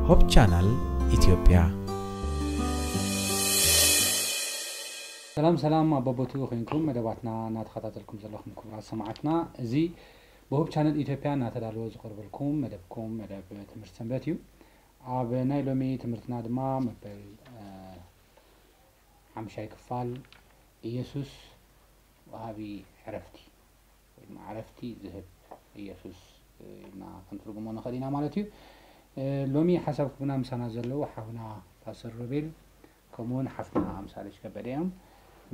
ሆፕ ቻናል ኢትዮጵያ። ሰላም ሰላም፣ ኣብ በቦትኡ ኮይንኩም መደባትና እናተኸታተልኩም ዘለኹም ክቡራት ሰማዕትና፣ እዚ ብሆፕ ቻነል ኢትዮጵያ እናተዳለወ ዝቐርበልኩም መደብኩም መደብ ትምህርቲ ሰንበት እዩ። ኣብ ናይ ሎሚ ትምህርትና ድማ መበል ሓምሻይ ክፋል፣ ኢየሱስ ወሃቢ ዕረፍቲ ወይ ድማ ዕረፍቲ ዝህብ ኢየሱስ ኢልና ክንትርጉሞ ንኽእል ኢና ማለት እዩ። ሎሚ ሓሳብ ክቡና ምሳና ዘለዉ ሓውና ፓስተር ሮቤል ከምኡውን ሓፍትና ኣምሳለች ከበደ እዮም።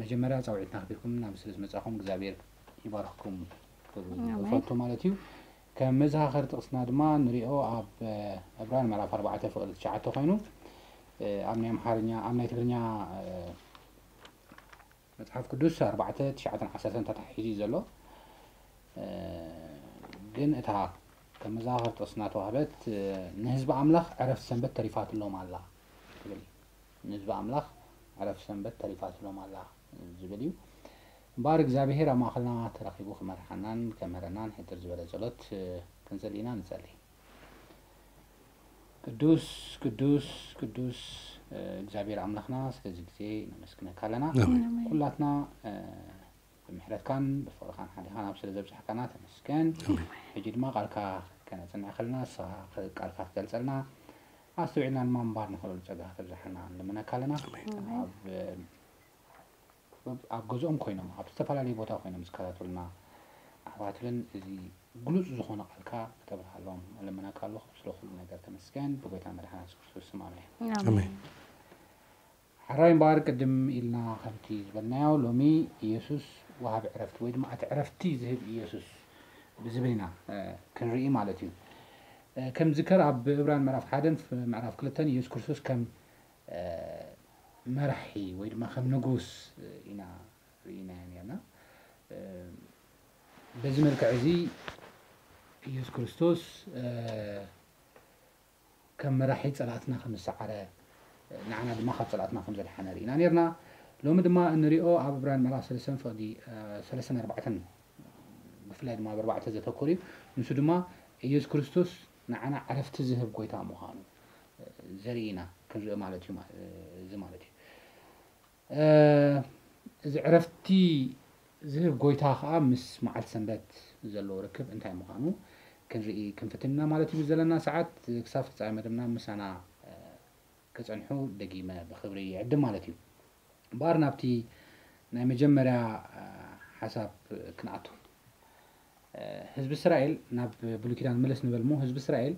መጀመርያ ፃውዒትና ኣኽቢርኩም ናብ ስለ ዝመፃኹም እግዚኣብሔር ይባርኽኩም ክብል እፈቱ ማለት እዩ። ከም መዘኻኸሪ ጥቕስና ድማ ንሪኦ ኣብ ዕብራን ምዕራፍ ኣርባዕተ ፍቕዲ ትሽዓተ ኮይኑ ኣብ ናይ ኣምሓርኛ ኣብ ናይ ትግርኛ መፅሓፍ ቅዱስ ኣርባዕተ ትሽዓተን ዓሰርተን ተታሒዙ እዩ ዘሎ። ግን እታ ከም መዘኻኸሪ ጥቕስና ተዋህበት ንህዝቢ ኣምላኽ ዕረፍቲ ሰንበት ተሪፋትሎም ኣላ ትብል። ንህዝቢ ኣምላኽ ዕረፍቲ ሰንበት ተሪፋትሎም ኣላ ዝብል እዩ። እምበኣር እግዚኣብሄር ኣብ ማእኸልና ተረኺቡ ክመርሓናን ከምህረናን ሕድር ዝበለ ጸሎት ክንጽሊ ኢና። ንጸሊ። ቅዱስ ቅዱስ ቅዱስ እግዚኣብሔር ኣምላኽና ስለዚ ግዜ ነመስግነካ ኣለና። ኩላትና ብምሕረትካን ብፍቕርካን ሓሊኻን ኣብ ስለ ዘብጻሕካና ተመስገን። ሕጂ ድማ ቃልካ ከነጽንዕ ከለና ንስኻ ቃልካ ክትገልጸልና ኣስተውዒልና ድማ ምንባር ንኽእለሉ ጸጋ ከተብዝሓልና ንልምነካ ኣለና። ኣብ ኣብ ገዝኦም ኮይኖም ኣብ ዝተፈላለየ ቦታ ኮይኖም ዝከታተሉና ኣሕዋት እውን እዚ ግሉጽ ዝኾነ ቃልካ ክተብርሃሎም እልምነካ ኣለኹ። ስለ ኩሉ ነገር ተመስገን። ብጎይታ መድሓና የሱስ ክርስቶስ ስም ኣሜን። ኣሜን። ሕራይ እምበኣር ቅድም ኢልና ከምቲ ዝበልናዮ ሎሚ ኢየሱስ ወሃቢ ዕረፍቲ ወይ ድማ እቲ ዕረፍቲ ዝህብ ኢየሱስ ብዝብል ኢና ክንርኢ ማለት እዩ። ከም ዝከር ኣብ ዕብራን ምዕራፍ ሓደን ምዕራፍ ክልተን ኢየሱስ ክርስቶስ ከም መራሒ ወይ ድማ ከም ንጉስ ኢና ርኢናዮ ነርና። በዚ መልክዕ እዚ ኢየሱስ ክርስቶስ ከም መራሒ ጸላእትና ከም ዝሰዓረ ንዓና ድማ ካብ ጸላእትና ከም ዘድሓነ ርኢና ነርና። ሎሚ ድማ እንሪኦ ኣብ ዕብራን ምዕራፍ ሰለስተን ፍቕዲ ሰለስተን ኣርባዕተን ብፍላይ ድማ ኣብ ኣርባዕተ ዘተኮር እዩ። ንሱ ድማ ኢየሱስ ክርስቶስ ንዓና ዕረፍቲ ዝህብ ጎይታ ምዃኑ ዘርኢ ኢና ክንርኢ ማለት እዩ። እዚ ማለት እዩ እዚ ዕረፍቲ ዝህብ ጎይታ ከዓ ምስ መዓልቲ ሰንበት ዘለዎ ርክብ እንታይ ምዃኑ ክንርኢ ክንፍትን ኢና ማለት እዩ። ዘለና ሰዓት ክሳብ ፍጻሜ መደብና ምሳና ክጸንሑ ደጊመ ብኽብሪ ይዕድም ማለት እዩ። እምበኣር ናብቲ ናይ መጀመርያ ሓሳብ ክንኣቱ። ህዝቢ እስራኤል ናብ ብሉይ ኪዳን መለስ ንበል እሞ ህዝቢ እስራኤል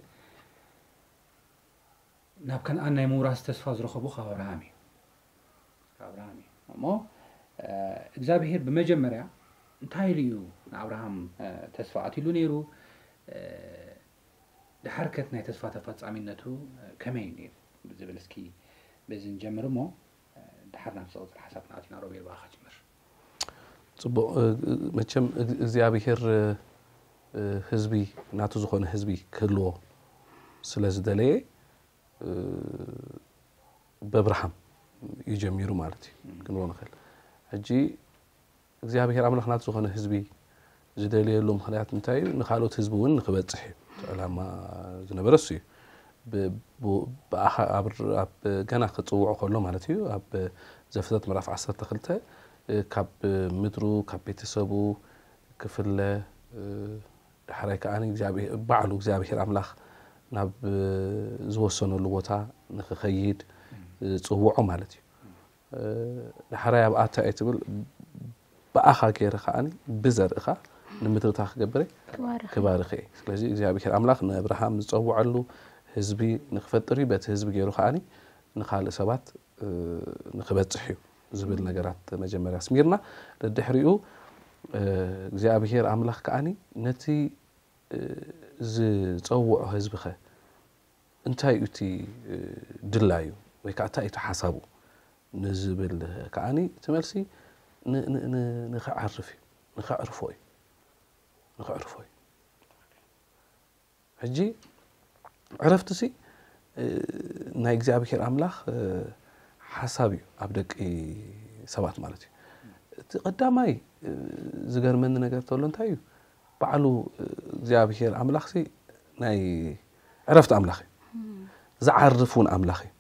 ናብ ከነኣን ናይ ምውራስ ተስፋ ዝረኸቡ ካብ ኣብርሃም እዩ። ካብ ኣብርሃም እዩ እሞ እግዚኣብሄር ብመጀመርያ እንታይ ኢሉ እዩ ንኣብርሃም ተስፋ ኣትሉ ነይሩ? ድሓርከት ናይ ተስፋ ተፈጻሚነቱ ከመይ እዩ ነይሩ ዝብል እስኪ በዚ ንጀምር እሞ ድሓር ናብ ዝቕፅል ሓሳብ ናትና ሮቤል ብኣኻ ጅምር። ፅቡቕ። መቸም እግዚኣብሄር ህዝቢ ናቱ ዝኾነ ህዝቢ ክህልዎ ስለ ዝደለየ በብርሃም እዩ ጀሚሩ ማለት እዩ ክንብሎ ንኽእል። ሕጂ እግዚኣብሄር ኣምላኽ ናቱ ዝኾነ ህዝቢ ዝደልየሉ ምኽንያት እንታይ እዩ? ንካልኦት ህዝቢ እውን ንክበፅሕ እዩ እቲ ዕላማ ዝነበረ እሱ እዩ። ብኣኻ ኣብ ገና ክፅውዖ ከሎ ማለት እዩ ኣብ ዘፍጥረት ምዕራፍ ዓሰርተ ክልተ ካብ ምድሩ ካብ ቤተሰቡ ክፍለ ዳሕራይ ከዓ ባዕሉ እግዚኣብሄር ኣምላኽ ናብ ዝወሰነሉ ቦታ ንክኸይድ ዝፅውዖ ማለት እዩ። ዳሕራይ ኣብኣ እንታይ እየ ትብል ብኣኻ ገይረ ከዓ ብዘርእኻ ንምድርታ ክገብረ ክባርኽ እየ። ስለዚ እግዚኣብሄር ኣምላኽ ንኣብርሃም ዝፀውዐሉ ህዝቢ ንክፈጥር እዩ። በቲ ህዝቢ ገይሩ ከዓ ንካልእ ሰባት ንክበፅሕ እዩ ዝብል ነገራት መጀመርያ ኣስሚርና። ደድሕሪኡ እግዚኣብሄር ኣምላኽ ከዓ ነቲ ዝፀውዖ ህዝቢ ኸ እንታይ እዩ እቲ ድላዩ ወይ ከዓ እንታይ እዩ እቲ ሓሳቡ ንዝብል ከዓ እቲ መልሲ ንኸዕርፍ እዩ። ንኸዕርፎ እዩ። ንኸዕርፎ እዩ። ሕጂ ዕረፍቲ ሲ ናይ እግዚኣብሄር ኣምላኽ ሓሳብ እዩ ኣብ ደቂ ሰባት ማለት እዩ። እቲ ቀዳማይ ዝገርመኒ ነገር ተሎ እንታይ እዩ ባዕሉ እግዚኣብሄር ኣምላኽ ሲ ናይ ዕረፍቲ ኣምላኽ እዩ። ዝዓርፍ እውን ኣምላኽ እዩ።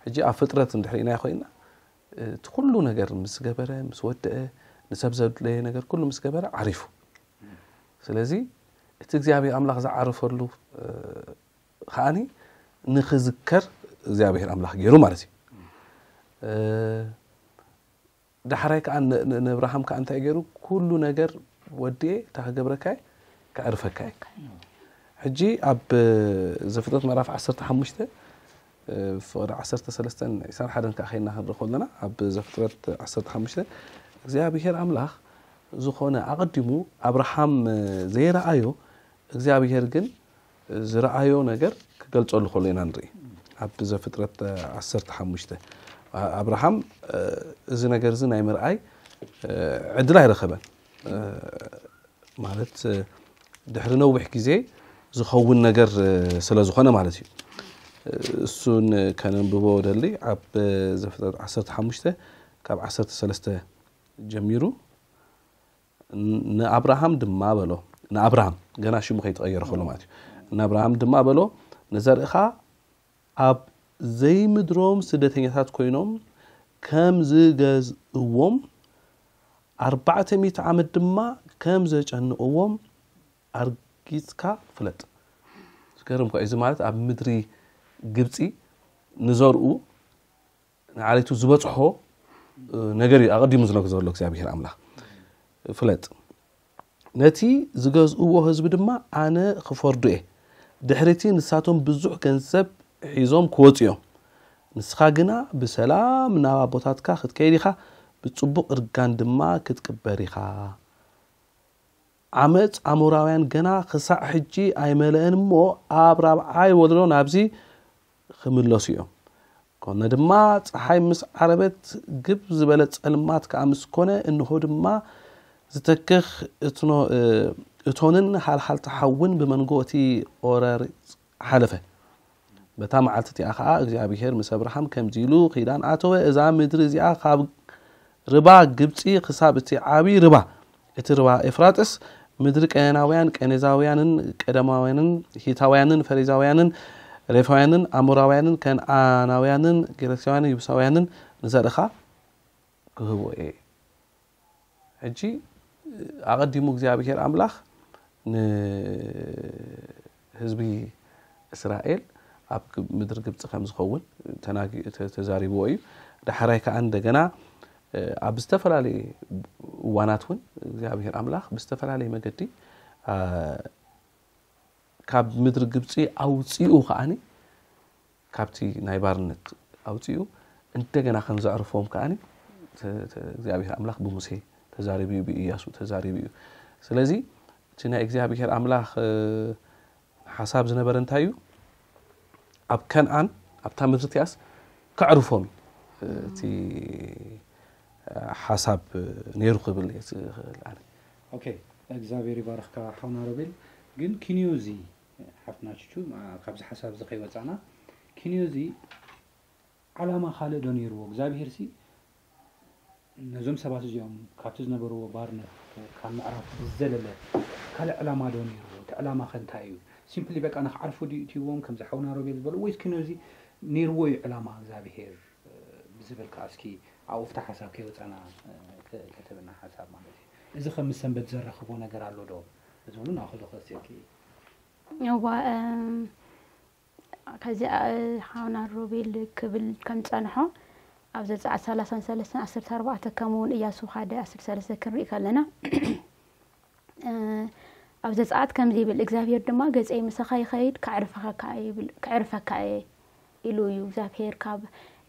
ሕጂ ኣብ ፍጥረት እንድሕር ኢናዮ ኮይና እቲ ኩሉ ነገር ምስ ገበረ ምስ ወደአ ንሰብ ዘድለየ ነገር ኩሉ ምስ ገበረ ዓሪፉ። ስለዚ እቲ እግዚኣብሔር ኣምላኽ ዝዓረፈሉ ከዓኒ ንኽዝከር እግዚኣብሔር ኣምላኽ ገይሩ ማለት እዩ። ዳሕራይ ከዓ ንኣብርሃም ከዓ እንታይ ገይሩ? ኩሉ ነገር ወዲኤ እንታይ ክገብረካ እየ? ከዕርፈካ እየ። ሕጂ ኣብ ዘፍጥረት ምዕራፍ ዓሰርተ ሓሙሽተ ፍቕዲ ዓሰርተ ሰለስተን ዕስራን ሓደን ከዓ ከይና ክንርኢ ከለና ኣብ ዘፍጥረት ዓሰርተ ሓሙሽተ እግዚኣብሔር ኣምላኽ ዝኾነ ኣቐዲሙ ኣብርሃም ዘይረኣዮ እግዚኣብሔር ግን ዝረኣዮ ነገር ክገልጸሉ ከሎ ኢና ንርኢ። ኣብ ዘፍጥረት ዓሰርተ ሓሙሽተ ኣብርሃም እዚ ነገር እዚ ናይ ምርኣይ ዕድል ኣይረኸበን። ማለት ድሕሪ ነዊሕ ግዜ ዝኸውን ነገር ስለ ዝኾነ ማለት እዩ። እሱን ከነንብቦ ደሊ ኣብ ዘፍጥረት ዓሰርተ ሓሙሽተ ካብ ዓሰርተ ሰለስተ ጀሚሩ ንኣብርሃም ድማ በሎ። ንኣብርሃም ገና ሽሙ ከይተቐየረ ከሎ ማለት እዩ። ንኣብርሃም ድማ በሎ፣ ንዘርእኻ ኣብ ዘይምድሮም ስደተኛታት ኮይኖም ከም ዝገዝእዎም ኣርባዕተ ሚእቲ ዓመት ድማ ከም ዘጨንቕዎም ኣርጊጽካ ፍለጥ። ዝገርም እኮ እዚ ማለት ኣብ ምድሪ ግብጺ ንዘርኡ ንዓሌቱ ዝበጽሖ ነገር እዩ ኣቐዲሙ ዝነግሮ ዘሎ እግዚኣብሔር ኣምላኽ። ፍለጥ፣ ነቲ ዝገዝእዎ ህዝቢ ድማ ኣነ ክፈርዶ እየ። ድሕሪቲ ንሳቶም ብዙሕ ገንዘብ ሒዞም ክወጹ እዮም። ንስኻ ግና ብሰላም ናብ ኣቦታትካ ክትከይድ ኢኻ፣ ብጽቡቕ እርጋን ድማ ክትቅበር ኢኻ። ዓመፅ ኣሞራውያን ገና ክሳዕ ሕጂ ኣይመለአን እሞ፣ ኣብ ራብዓይ ወለዶ ናብዚ ክምለሱ እዮም። ኮነ ድማ፣ ፀሓይ ምስ ዓረበት፣ ግብ ዝበለ ፀልማት ከዓ ምስ ኮነ፣ እንሆ ድማ ዝተክኽ እቶንን ሃልሃልታ ሓውን ብመንጎ እቲ ቆረርፅ ሓለፈ። በታ መዓልቲ እቲኣ ኸዓ እግዚኣብሄር ምስ ኣብርሃም ከምዚ ኢሉ ኺዳን ኣተወ፣ እዛ ምድሪ እዚኣ ኻብ ርባ ግብጺ ኽሳብ እቲ ዓብዪ ርባ፣ እቲ ርባ ኤፍራጥስ፣ ምድሪ ቀናናውያን፣ ቀኔዛውያንን፣ ቀደማውያንን፣ ሂታውያንን፣ ፈሪዛውያንን፣ ሬፋውያንን፣ ኣሞራውያንን፣ ከነኣናውያንን፣ ጌርጋሳውያንን፣ ይቡሳውያንን ንዘርእኻ ክህቦ እየ። ሕጂ ኣቐዲሙ እግዚኣብሄር ኣምላኽ ንህዝቢ እስራኤል ኣብ ምድሪ ግብፂ ከም ዝኸውን ተዛሪብዎ እዩ። ዳሕራይ ከዓ እንደገና ኣብ ዝተፈላለየ እዋናት እውን እግዚኣብሄር ኣምላኽ ብዝተፈላለየ መገዲ ካብ ምድሪ ግብፂ ኣውፂኡ ከዓኒ ካብቲ ናይ ባርነት ኣውፂኡ እንደገና ከም ዘዕርፎም ከዓኒ እግዚኣብሔር ኣምላኽ ብሙሴ ተዛሪቡ እዩ፣ ብኢያሱ ተዛሪቡ እዩ። ስለዚ እቲ ናይ እግዚኣብሔር ኣምላኽ ሓሳብ ዝነበረ እንታይ እዩ? ኣብ ከነኣን ኣብታ ምድሪ እቲኣስ ከዕርፎም እዩ እቲ ሓሳብ ነይሩ ክብል እየ ዝኽእል ኣነ። ኦኬ እግዚኣብሔር ይባርኽካ ሓውና ሮቤል። ግን ኪንዮዚ ሓፍትና ቹቹ ካብዚ ሓሳብ እዚ ከይወፃና ኪንዮዚ ዓላማ ካልእ ዶ ነይርዎ እግዚኣብሔር ሲ ነዞም ሰባት እዚኦም ካብቲ ዝነበርዎ ባርነት ካብ ምዕራፍ ብዝዘለለ ካልእ ዕላማ ዶ ነይርዎ? እቲ ዕላማ ከ እንታይ እዩ? ሲምፕሊ በቃ ንክዓርፉ ድዩ እትይዎም ከምዚ ሓውና ሮቤል ዝበሉ ወይስ ኪንዮዚ ነይርዎ እዩ ዕላማ እግዚኣብሔር ብዝብል ከዓ እስኪ ኣብኡ ፍታ ሓሳብ ከይወፃና ተተብና ሓሳብ ማለት እዩ። እዚ ከም ምስ ሰንበት ዘራኽቦ ነገር ኣሎ ዶ ዝብሉ ናክሉ ክወስየኪ እዋ ከዚ ሓውና ሮቤል ክብል ከም ዝፀንሖ ኣብ ዘፀኣት ሰላሳን ሰለስተን ዓሰርተ ኣርባዕተ ከምኡ እውን እያሱ ሓደ ዓሰርተ ሰለስተ ክንርኢ ከለና ኣብ ዘፀኣት ከምዚ ይብል እግዚኣብሔር ድማ ገፀይ ምሳኻ ይኸይድ ከዕርፈካ እየ ኢሉ እዩ እግዚኣብሔር ካብ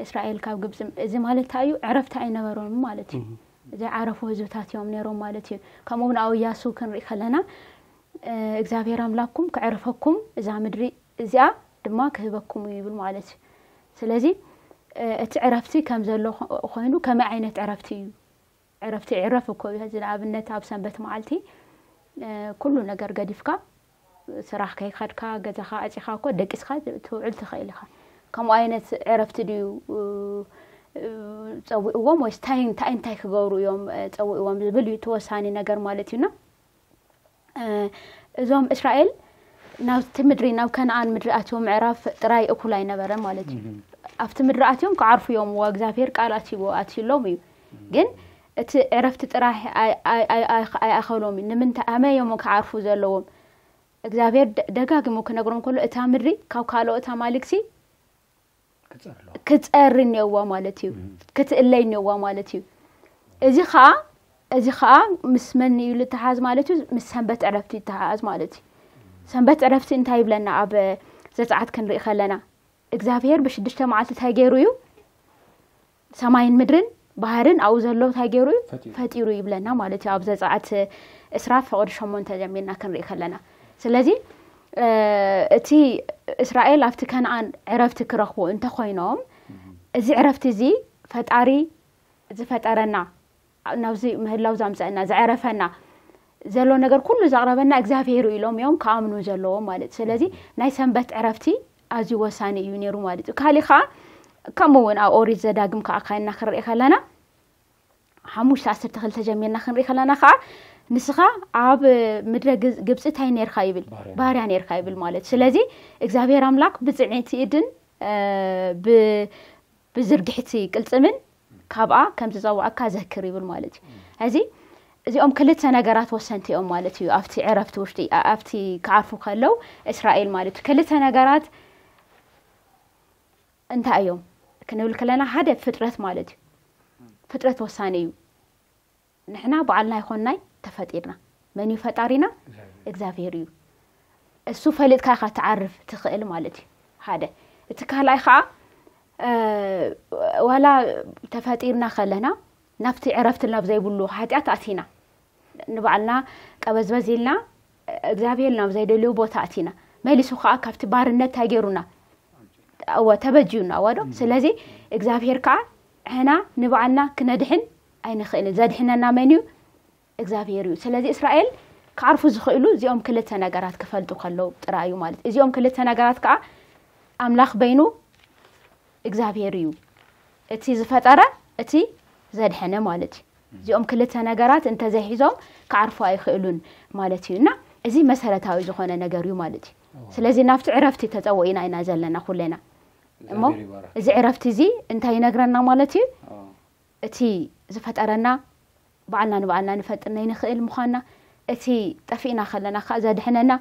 እስራኤል ካብ ግብፂ እዚ ማለት እንታይ እዩ ዕረፍቲ ኣይነበሮም ማለት እዩ ዘይዓረፉ ህዝብታት እዮም ነይሮም ማለት እዩ ከምኡ እውን ኣብ እያሱ ክንርኢ ከለና እግዚኣብሔር ኣምላኩም ክዕርፈኩም እዛ ምድሪ እዚኣ ድማ ክህበኩም እዩ ይብል ማለት እዩ ስለዚ እቲ ዕረፍቲ ከም ዘሎ ኮይኑ ከመይ ዓይነት ዕረፍቲ እዩ ዕረፍቲ ይዕረፍ እኮ እዩ። ሕዚ ንኣብነት ኣብ ሰንበት መዓልቲ ኩሉ ነገር ገዲፍካ ስራሕ ከይከድካ ገዛኻ ኣፂኻ እኮ ደቂስካ ትውዕል ትኽእል ኢኻ። ከምኡ ዓይነት ዕረፍቲ ድዩ ፀዊእዎም ወይስ እንታይ እንታይ እንታይ ክገብሩ እዮም ፀዊእዎም ዝብል እዩ እቲ ወሳኒ ነገር ማለት እዩና። እዞም እስራኤል ናብቲ ምድሪ፣ ናብ ከነኣን ምድሪ ኣትዮም ምዕራፍ ጥራይ እኩል ኣይነበረን ማለት እዩ። ኣብቲ ምድሪ ኣትዮም ክዓርፉ እዮም፣ እዋ እግዚኣብሔር ቃል ኣትይዎ ኣትዩሎም እዩ። ግን እቲ ዕረፍቲ ጥራይ ኣይ- ኣይ- ኣይ- ኣይ- ኣይኣኸሎም እዩ። ንምንታይ ኣመ እዮም ክዓርፉ ዘለዎም? እግዚኣብሔር ደ- ደጋጊሙ ክነግሮም ከሎ እታ ምድሪ ካብ ካልኦት ኣማልክቲ ክፀርሎ ክትፀሪ እኒኦዋ ማለት እዩ። ክትእለይ እኒኦዋ ማለት እዩ። እዚ ከዓ እዚ ከዓ ምስ መን እዩ ልተሓዝ ማለት እዩ? ምስ ሰንበት ዕረፍቲ ይተሓዝ ማለት እዩ። ሰንበት ዕረፍቲ እንታይ ይብለና? ኣብ ዘፀዓት ክንርኢ ከለና እግዚኣብሔር ብሽዱሽተ መዓልቲ እንታይ ገይሩ እዩ? ሰማይን ምድርን ባህርን ኣብኡ ዘሎ እንታይ ገይሩ እዩ? ፈጢሩ። ፈጢሩ ይብለና ማለት እዩ። ኣብ ዘፀዓት እስራ ፍቕዲ ሸሞንተ ጀሚርና ክንርኢ ከለና፣ ስለዚ እቲ እስራኤል ኣብቲ ከነኣን ዕረፍቲ ክረኽቡ እንተኮይኖም፣ እዚ ዕረፍቲ እዚ ፈጣሪ ዝፈጠረና፣ ናብዚ ምህላው ዘምፀአና፣ ዘዕረፈና፣ ዘሎ ነገር ኩሉ ዘቕረበና እግዚኣብሔር እዩ ኢሎም እዮም ክኣምኑ ዘለዎም ማለት እዩ። ስለዚ ናይ ሰንበት ዕረፍቲ ኣዝዩ ወሳኒ እዩ ነይሩ ማለት እዩ። ካሊእ ከዓ ከምኡ እውን ኣብ ኦሪት ዘዳግም ከዓ ካይና ክንርኢ ከለና ሓሙሽተ ዓሰርተ ክልተ ጀሚርና ክንርኢ ከለና ከዓ ንስኻ ኣብ ምድረ ግዝ- ግብፂ እንታይ ነርካ ይብል? ባርያ። ባርያ ነርካ ይብል ማለት እዩ። ስለዚ እግዚኣብሔር ኣምላክ ብፅዕቲ ኢድን እ፣ ብ- ብዝርግሕቲ ቅልፅምን ካብኣ ከም ዝፀዋዕካ ዘክር ይብል ማለት እዩ። እዚ እዚኦም ክልተ ነገራት ወሰንቲ እዮም ማለት እዩ። ኣብቲ ዕረፍቲ ውሽጢ ኣ- ኣብቲ ክዓርፉ ከለው እስራኤል ማለት እዩ። ክልተ ነገራት እንታይ እዮም ክንብል ከለና ሓደ ፍጥረት ማለት እዩ። ፍጥረት ወሳኒ እዩ። ንሕና ባዕልና ይኾንናይ ተፈጢርና። መን እዩ ፈጣሪና? እግዚኣብሔር እዩ። እሱ ፈሊጥካ ኢኻ ትዓርፍ ትኽእል ማለት እዩ። ሓደ እቲ ካልኣይ ከዓ እ፣ ዋላ ተፈጢርና ከለና ናብቲ ዕረፍቲ ናብ ዘይብሉ ሓጢኣት ኣቲና ንባዕልና ቀበዝበዝ ኢልና እግዚኣብሔር ናብ ዘይደልዩ ቦታ ኣቲና መሊሱ ከዓ ካብቲ ባርነት እንታይ ገይሩና? እወ ተበጅዩና እወ ዶ? ስለዚ እግዚኣብሔር ከዓ ሕና ንባዕልና ክነድሕን ኣይንኽእልን። ዘድሕነና መን እዩ? እግዚኣብሔር እዩ። ስለዚ እስራኤል ክዓርፉ ዝኽእሉ እዚኦም ክልተ ነገራት ክፈልጡ ከለዉ ጥራይ እዩ ማለት እዩ። እዚኦም ክልተ ነገራት ከዓ ኣምላኽ በይኑ እግዚኣብሔር እዩ፣ እቲ ዝፈጠረ እቲ ዘድሐነ ማለት እዩ። እዚኦም ክልተ ነገራት እንተዘይሒዞም ክዓርፉ ኣይኽእሉን ማለት እዩ። እና እዚ መሰረታዊ ዝኾነ ነገር እዩ ማለት እዩ። ስለዚ ናብቲ ዕረፍቲ ተፀውዒና ኢና ዘለና ኩለና። እሞ እግዚኣብሔር ይባረክ። እዚ ዕረፍቲ እዚ እንታይ ይነግረና ማለት እዩ? ኣዎ። እቲ ዝፈጠረና ባዕልና ንባዕልና ንፈጥር ናይ ንኽእል ምዃንና፣ እቲ ጠፊእና ከለና ከዓ ዘድሕነና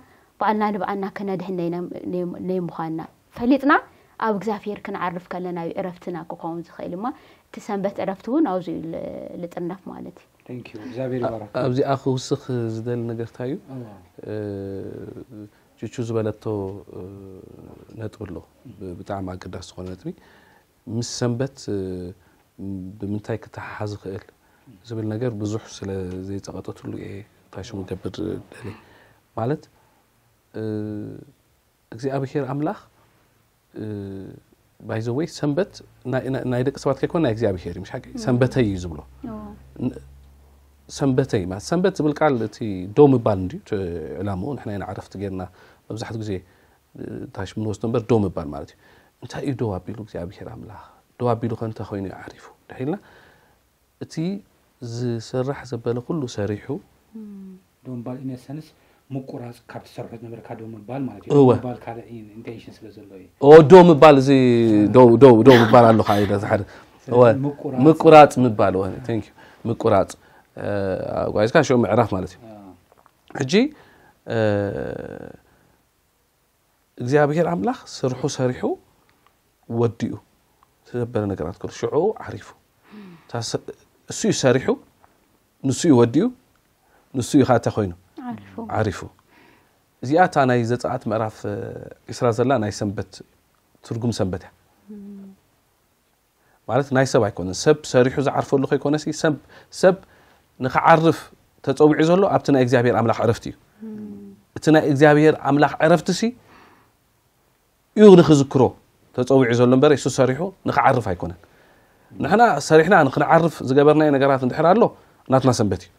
ባዕልና ንባዕልና ክነድሕን ናይ- ናይ- ናይ ምዃንና ፈሊጥና ኣብ እግዚኣብሔር ክንዓርፍ ከለና እዩ ዕረፍትና ክኸውን ዝኽእል። እማ እቲ ሰንበት ዕረፍቲ እውን ኣብዚ እዩ ል- ልጥርነፍ ማለት እዩ። Thank you። እግዚኣብሔር ይባረክ። ኣብዚኣ ክውስኽ ዝደሊ ነገር እንታይ እዩ? ኣዎ። እ፣ ቹቹ ዝበለቶ እ፣ ነጥቢ ኣሎ። ብ- ብጣዕሚ ኣገዳሲ ዝኾነ ነጥቢ፣ ምስ ሰንበት እ፣ ብምንታይ ክተሓሓዝ ይኽእል ዝብል ነገር ብዙሕ ስለ ዘይፀቐጠትሉ እየ ታሽሙ ገብር ደሊ ማለት እ፣ እግዚኣብሔር ኣምላኽ ባይዘወይ ሰንበት ናይ- ናይ ናይ ደቂ ሰባት ከይኮነ ናይ እግዚኣብሔር እዩ። ምሽ ሓቂ ሰንበተይ እዩ ዝብሎ። ን- ሰንበተይ ማለት ሰንበት ዝብል ቃል እቲ ደው ምባል እንድዩ እቲ ዕላምኡ። ንሕና ኢና ዕረፍቲ ጌርና መብዛሕትኡ ግዜ ታሽሙ ንወስዶ እምበር ደው ምባል ማለት እዩ። እንታይ እዩ ደው ኣቢሉ እግዚኣብሔር ኣምላኽ? ደው ኣቢሉ ከ እንታይ ኮይኑ እዩ ዓሪፉ ድሒልና እቲ ዝስራሕ ዘበለ ኩሉ ሰሪሑ ደው ምባል ኢነሰንስ ምቁራፅ ካብ ትሰርሖ ዝነበርካ ደው ምባል ማለት እዩ። እወ። ደው ምባል ካልእ ኢንቴንሽን ስለ ዘሎ እዩ። ኦ ደው ምባል እዚ ደው ደው ደው ምባል ኣለካ ኢለ ዝሓደ እወ ምቁራፅ። ምቁራፅ ምባል እወ thank you ምቁራፅ እ፣ ጓይዝካ ሽዑ ምዕራፍ ማለት እዩ። ኣዎ። ሕጂ እ፣ እግዚኣብሔር ኣምላኽ ስርሑ ሰሪሑ ወዲኡ ዘበለ ነገራት ከሎ ሽዑ ዓሪፉ እታ ሰ- እሱ እዩ ሰሪሑ ንሱ እዩ ወዲኡ ንሱ እዩ ከዓ እንታይ ኮይኑ ዓሪፉ። ዓሪፉ። እዚኣ እታ ናይ ዘፀኣት ምዕራፍ ዒስራ ዘላ ናይ ሰንበት ትርጉም ሰንበት እያ። ማለት ናይ ሰብ ኣይኮነን። ሰብ ሰሪሑ ዝዓርፈሉ ከይኮነሲ ሰብ ሰብ ንክዓርፍ ተፀዊዑ ዘሎ ኣብቲ ናይ እግዚኣብሔር ኣምላኽ ዕረፍቲ እዩ። እቲ ናይ እግዚኣብሔር ኣምላኽ ዕረፍቲ ሲ እዩ ንክዝክሮ ተፀዊዑ ዘሎ እምበር እሱ ሰሪሑ ንክዓርፍ ኣይኮነን። ንሕና ሰሪሕና ንክንዓርፍ ዝገበርናዮ ነገራት እንድሕር ኣሎ ናትና ሰንበት እዩ።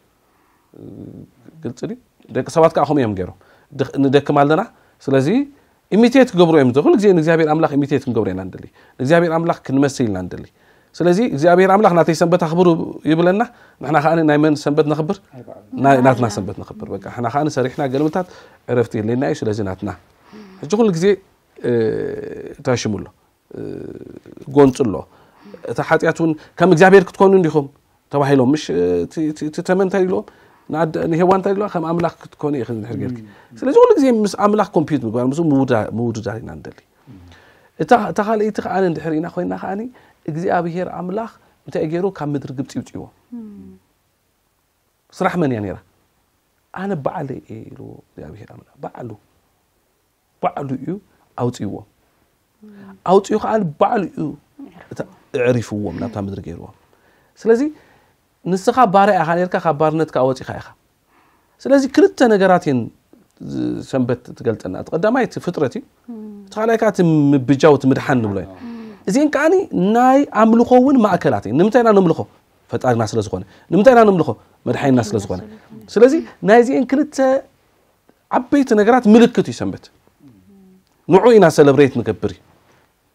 ግልፂ ድዩ? ደቂ ሰባት ከዓ ከምኡ እዮም ገይሮም። ድኽ- ንደክም ኣለና። ስለዚ ኢሚቴት ክገብሩ እዮም። ኩሉ ግዜ ንእግዚኣብሔር ኣምላኽ ኢሚቴት ክንገብሩ ኢና ንደሊ። ንእግዚኣብሔር ኣምላኽ ክንመስል ኢና ንደሊ። ስለዚ እግዚኣብሔር ኣምላኽ ናተይ ሰንበት ኣኽብሩ ይብለና፣ ንሕና ከኣ ናይ መን ሰንበት ነኽብር? ኣይበዓሉ ናይ ናትና ሰንበት ነኽብር። በቃ ንሕና ከኣ ሰሪሕና ገልምታት ዕረፍቲ የለና እዩ። ስለዚ ናትና ሕጂ ኩሉ ግዜ እ፣ ታሽሙ ኣሎ እ፣ ጎንፂ ኣሎ። እቲ ሓጢኣት እውን ከም እግዚኣብሔር ክትኮኑ እንዲኹም ተባሂሎም ምሽ እቲ ተመን እንታይ ኢልዎም? ንኣደ- ንሄዋን እንታይ ኢልዋ? ከም ኣምላኽ ክትኮኑ ኢኺ እንድሕር ጌርኪ። ስለዚ ኩሉ ግዜ ምስ ኣምላኽ ኮምፒት ምግባር ምስ ምውዳ- ምውድዳር ኢና ንደሊ። እታ እታ ካልኣይቲ ከኣ እንድሕር ኢና ኮይና ከኣ እግዚኣብሔር ኣምላኽ እንታይ ገይሩ? ካብ ምድሪ ግብፂ ይውፅእዎም። ስራሕ መን እያ ነይራ? ኣነ ባዕለይ እየ ኢሉ እግዚኣብሔር ኣምላኽ ባዕሉ ባዕሉ እዩ ኣውፅእዎም። ኣውፅኡ ከዓ ባዕሉ እዩ እታ- ኣዕሪፍዎም ናብታ ምድሪ ገይርዎም። ስለዚ ንስኻ ባርያ ኢኻ ነርካ፣ ካብ ባርነት ከዓ ወፂኻ ኢኻ። ስለዚ ክልተ ነገራት እየን ዝ- ሰንበት ትገልፀና። እቲ ቀዳማይ እቲ ፍጥረት እዩ፣ እቲ ካልኣይ ከዓ እቲ ምብጃው እቲ ምድሓን ንብሎ እዩ። እዚአን ከዓ ናይ ኣምልኾ እውን ማእከላት እየን። ንምንታይ ኢና ነምልኾ? ፈጣሪና ስለ ዝኾነ። ንምንታይ ኢና ነምልኾ? መድሓኒና ስለ ዝኾነ። ስለዚ ናይዚአን ክልተ ዓበይቲ ነገራት ምልክት እዩ ሰንበት። ንዑ ኢና ሰለብሬት ንገብር እዩ።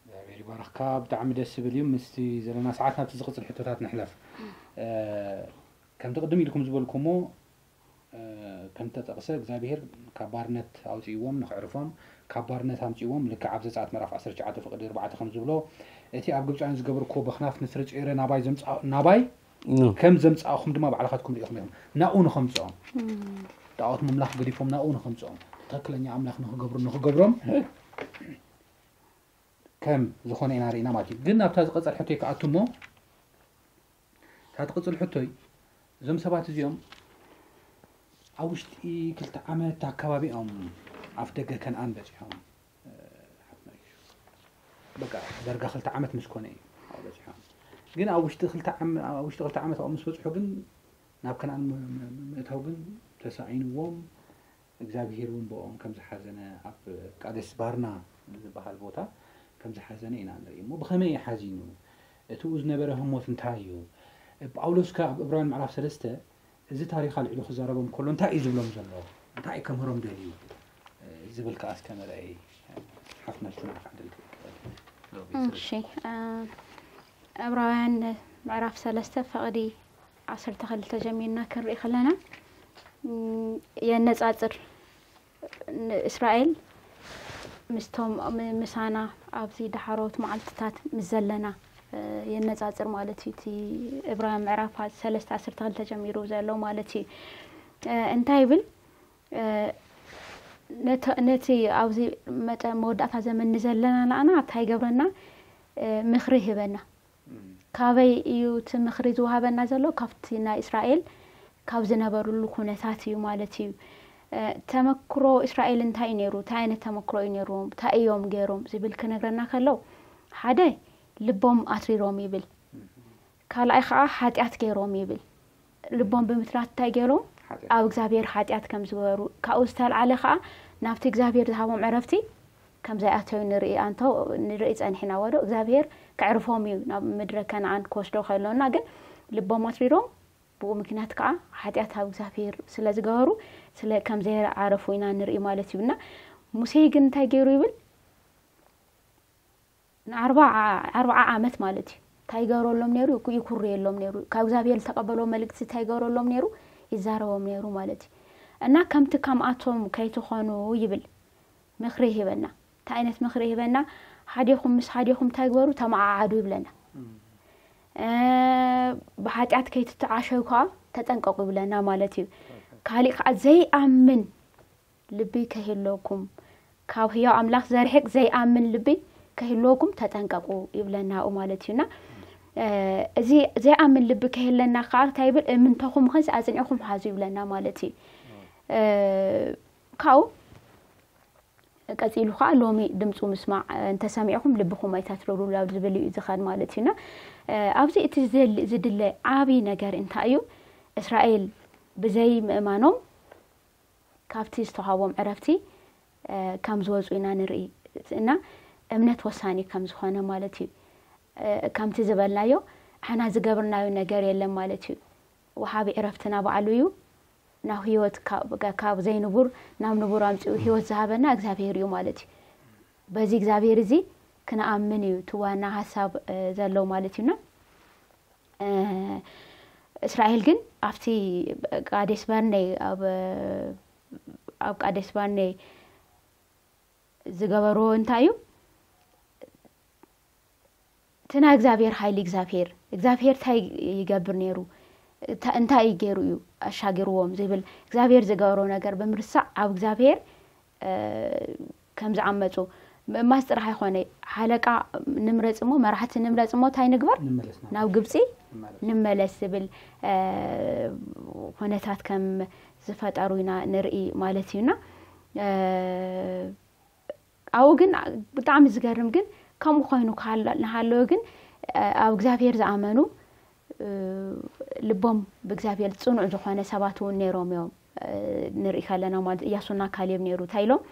እግዚኣብሔር ይባርኽካ። ብጣዕሚ ደስ ዝብል እዩ። ምስቲ ዘለና ሰዓት ናብቲ ዝቕፅል ሕቶታት ንሕለፍ። እ፣ ከምቲ ቅድም ኢልኩም ዝበልኩሞ እ፣ ከም ተጠቕሰ እግዚኣብሔር ካብ ባርነት ኣውፅእዎም ንክዕርፎም ካብ ባርነት ኣምፅእዎም። ልክዕ ኣብ ዘፀኣት ምዕራፍ ዓሰርተ ትሽዓተ ፍቕዲ ኣርባዕተ ከም ዝብሎ እቲ ኣብ ግብፃውያን ዝገበርክዎ በኽናፍ ንስርፂ ኤረ ናባይ ዘምፃ- ናባይ ኑ። ከም ዘምፃእኹም ድማ ባዕልኻትኩም ርኢኹም ኢኹም ናብኡ ንኸምፅኦም ጣዖት ምምላኽ ገዲፎም ናብኡ ንኸምፅኦም ትኽክለኛ ኣምላኽ ንኽገብሩ ንኽገብሮም ከም ዝኾነ ኢና ርኢና ማለት እዩ። ግን ናብታ ዝቐፀል ሕቶይ ክኣቱ እሞ እታ ትቕፅል ሕቶይ እዞም ሰባት እዚኦም ኣብ ውሽጢ ክልተ ዓመት ኣካባቢ እዮም ኣፍ ደገ ከነኣን በፂሖም። በቃ ደርጋ ክልተ ዓመት ምስ ኮነ እዩ ኣብኡ በፂሖም። ግን ኣብ ውሽጢ ክልተ ዓመ- ኣብ ውሽጢ ክልተ ዓመት ኣብኡ ምስ በፅሑ ግን ናብ ከነኣን ም- ም- ምእታው ግን ተሳኢንዎም። እግዚኣብሄር እውን ብኦም ከም ዝሓዘነ ኣብ ቃዴስ ባርና ዝበሃል ቦታ ከም ዝሓዘነ ኢና ንርኢ። እሞ ብኸመይ እዩ ሓዚኑ? እቲኡ ዝነበረ ህሞት እንታይ እዩ? ጳውሎስ ከ ኣብ ዕብራውያን ምዕራፍ ሰለስተ እዚ ታሪኽ ኣልዒሉ ክዛረቦም ከሎ እንታይ እዩ ዝብሎም ዘሎ? እንታይ እዩ ከምህሮም ደልዩ? ዝብል ከኣ እስከ ንርኣይ። ሓፍትና ሽቱና ክዓደል ትብል። እሺ፣ እ፣ ዕብራውያን ምዕራፍ ሰለስተ ፈቕዲ ዓሰርተ ክልተ ጀሚርና ክንርኢ ከለና፣ እም፣ የነጻጽር ንእስራኤል ምስቶም ም- ምሳና ኣብዚ ዳሕሮት መዓልትታት ምስ ዘለና እ፣ የነጻጽር ማለት እዩ። እቲ ዕብራውያን ምዕራፍ ሰለስተ ዓሰርተ ክልተ ጀሚሩ ዘሎ ማለት እዩ። እ፣ እንታይ ይብል? እ፣ ነተ- ነቲ ኣብዚ መጠ መወዳእታ ዘመን ንዘለና ንኣና እንታይ ይገብረና? እ፣ ምኽሪ ይህበና። ካበይ እዩ እቲ ምኽሪ ዝወሃበና ዘሎ? ካብቲ ናይ እስራኤል ካብ ዝነበሩሉ ኩነታት እዩ ማለት እዩ። እ፣ ተመክሮ እስራኤል እንታይ እዩ ነይሩ? እንታይ ዓይነት ተመክሮ እዩ ነይርዎም? እንታይ እዮም ገይሮም ዝብል ክነግረና ከሎ ሓደ ልቦም ኣትሪሮም ይብል። ካልኣይ ከዓ ሓጢኣት ገይሮም ይብል። ልቦም ብምትራት እንታይ ገይሮም? ሓጢኣት። ኣብ እግዚኣብሔር ሓጢኣት ከም ዝገበሩ ካብኡ ዝተልዓለ ከዓ ናብቲ እግዚኣብሔር ዝሃቦም ዕረፍቲ ከም ዘይኣተዩ ንርኢ ኣንቶ ንርኢ ፀኒሕና ወዶ እግዚኣብሔር ከዕርፎም እዩ ናብ ምድረ ከነኣን ክወስዶ ከሎና ግን ልቦም ኣትሪሮም ብኡ ምክንያት ከዓ ሓጢኣት ኣብ እግዚኣብሔር ስለ ዝገበሩ ስለ ከም ዘይዓረፉ ኢና ንርኢ ማለት እዩ እና ሙሴ ግን እንታይ ገይሩ ይብል ንኣርባዓ ኣርባዓ ዓመት ማለት እዩ እንታይ ይገብረሎም ነይሩ ይኩርየሎም ነይሩ ካብ እግዚኣብሔር ዝተቀበልዎ መልእክቲ እንታይ ይገብረሎም ነይሩ ይዛረቦም ነይሩ ማለት እዩ እና ከምቲ ከምኣቶም ከይትኾኑ ይብል ምኽሪ ይህበና እንታይ ዓይነት ምኽሪ ይህበና ሓዲኹም ምስ ሓዲኹም እንታይ ግበሩ ተመዓዓዱ ይብለና እ፣ ብሓጢኣት ከይትተዓሸው ከዓ ተጠንቀቁ ይብለና ማለት እዩ ካሊእ ከዓ ዘይኣምን ልቢ ከይህለኩም ካብ ህያው ኣምላኽ ዘርሕቅ ዘይኣምን ልቢ ከይህልወኩም ተጠንቀቁ ይብለና ኣብኡ ማለት እዩና እዚ ዘይኣምን ልቢ ከይህለና ከዓ እንታይ ይብል እምንተኹም ኸስ ኣፅኒዕኹም ሓዙ ይብለና ማለት እዩ ካብኡ ቀፂሉ ከዓ ሎሚ ድምፁ ምስማዕ እንተሰሚዕኹም ልብኹም ኣይታትረሩ ናብ ዝብል እዩ ዝኸድ ማለት እዩና ኣብዚ እቲ ዝድለ ዓብይ ነገር እንታይ እዩ እስራኤል ብዘይ ምእማኖም ካብቲ ዝተዋሃቦም ዕረፍቲ ከም ዝወፁ ኢና ንርኢ እና እምነት ወሳኒ ከም ዝኾነ ማለት እዩ ከምቲ ዝበልናዮ ኣሕና ዝገብርናዮ ነገር የለን ማለት እዩ ወሃቢ ዕረፍትና ባዕሉ እዩ ናብ ህይወት ካብ ዘይንቡር ናብ ንቡር ኣምፅኡ ህይወት ዝሃበና እግዚኣብሄር እዩ ማለት እዩ በዚ እግዚኣብሄር እዚ ክንኣምን እዩ እቲ ዋና ሃሳብ ዘለው ማለት እዩና እስራኤል ግን ኣብቲ ቃዴስ በርኔ ኣብ ቃዴስ በርኔ ዝገበርዎ እንታይ እዩ? እቲ ናይ እግዚኣብሔር ሓይሊ እግዚኣብሔር እግዚኣብሔር እንታይ ይገብር ነይሩ? እንታይ ገይሩ እዩ ኣሻጊርዎም ዝብል እግዚኣብሔር ዝገበሮ ነገር ብምርሳዕ ኣብ እግዚኣብሔር ከም ዝዓመፁ ምእማስ ጥራሕ ኣይኮነ። ሓለቃ ንምረፅ እሞ መራሕቲ ንምረፅ እሞ እንታይ ንግበር? ናብ ግብፂ ንምመለስ ዝብል ኩነታት ከም ዝፈጠሩ ኢና ንርኢ ማለት እዩና። ኣብኡ ግን ብጣዕሚ ዝገርም ግን ከምኡ ኮይኑ እናሃለወ ግን ኣብ እግዚኣብሔር ዝኣመኑ ልቦም ብእግዚኣብሔር ፅኑዕ ዝኾነ ሰባት እውን ነይሮም እዮም ንርኢ ከለና ማለት እያሱና ካሌብ ነይሩ እንታይ ኢሎም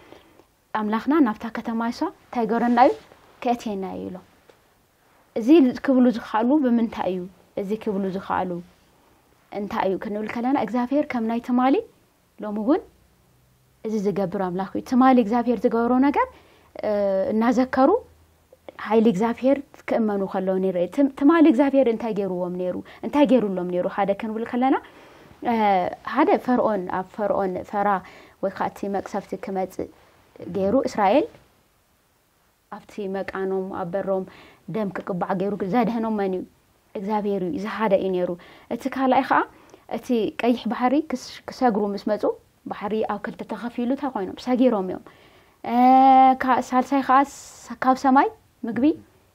ኣምላኽና ናብታ ከተማ ይሷ እንታይ ገረና እዩ ከእትየና እዩ ኢሎም። እዚ ክብሉ ዝኸኣሉ ብምንታይ እዩ? እዚ ክብሉ ዝኸኣሉ እንታይ እዩ ክንብል ከለና እግዚኣብሔር ከም ናይ ትማሊ ሎሚ እውን እዚ ዝገብር ኣምላኽ እዩ። ትማሊ እግዚኣብሔር ዝገበሮ ነገር እናዘከሩ ሓይሊ እግዚኣብሔር ክእመኑ ከለዉ ንርኢ። ትማሊ እግዚኣብሔር እንታይ ገይርዎም ነይሩ? እንታይ ገይሩሎም ነይሩ? ሓደ ክንብል ከለና ሓደ ፈርኦን ኣብ ፈርኦን ፈራ ወይ ከዓ እቲ መቅሰፍቲ ክመፅእ ገይሩ እስራኤል ኣብቲ መቃኖም ኣብ በሮም ደም ክቅባዕ ገይሩ ዘድሐኖም መን እዩ? እግዚኣብሔር እዩ። እዚ ሓደ እዩ ነይሩ። እቲ ካልኣይ ከዓ እቲ ቀይሕ ባሕሪ ክሰግሩ ምስ መፁ ባሕሪ ኣብ ክልተ ተኸፊሉ እንታይ ኮይኖም ሰጊሮም እዮም። ሳልሳይ ከዓ ካብ ሰማይ ምግቢ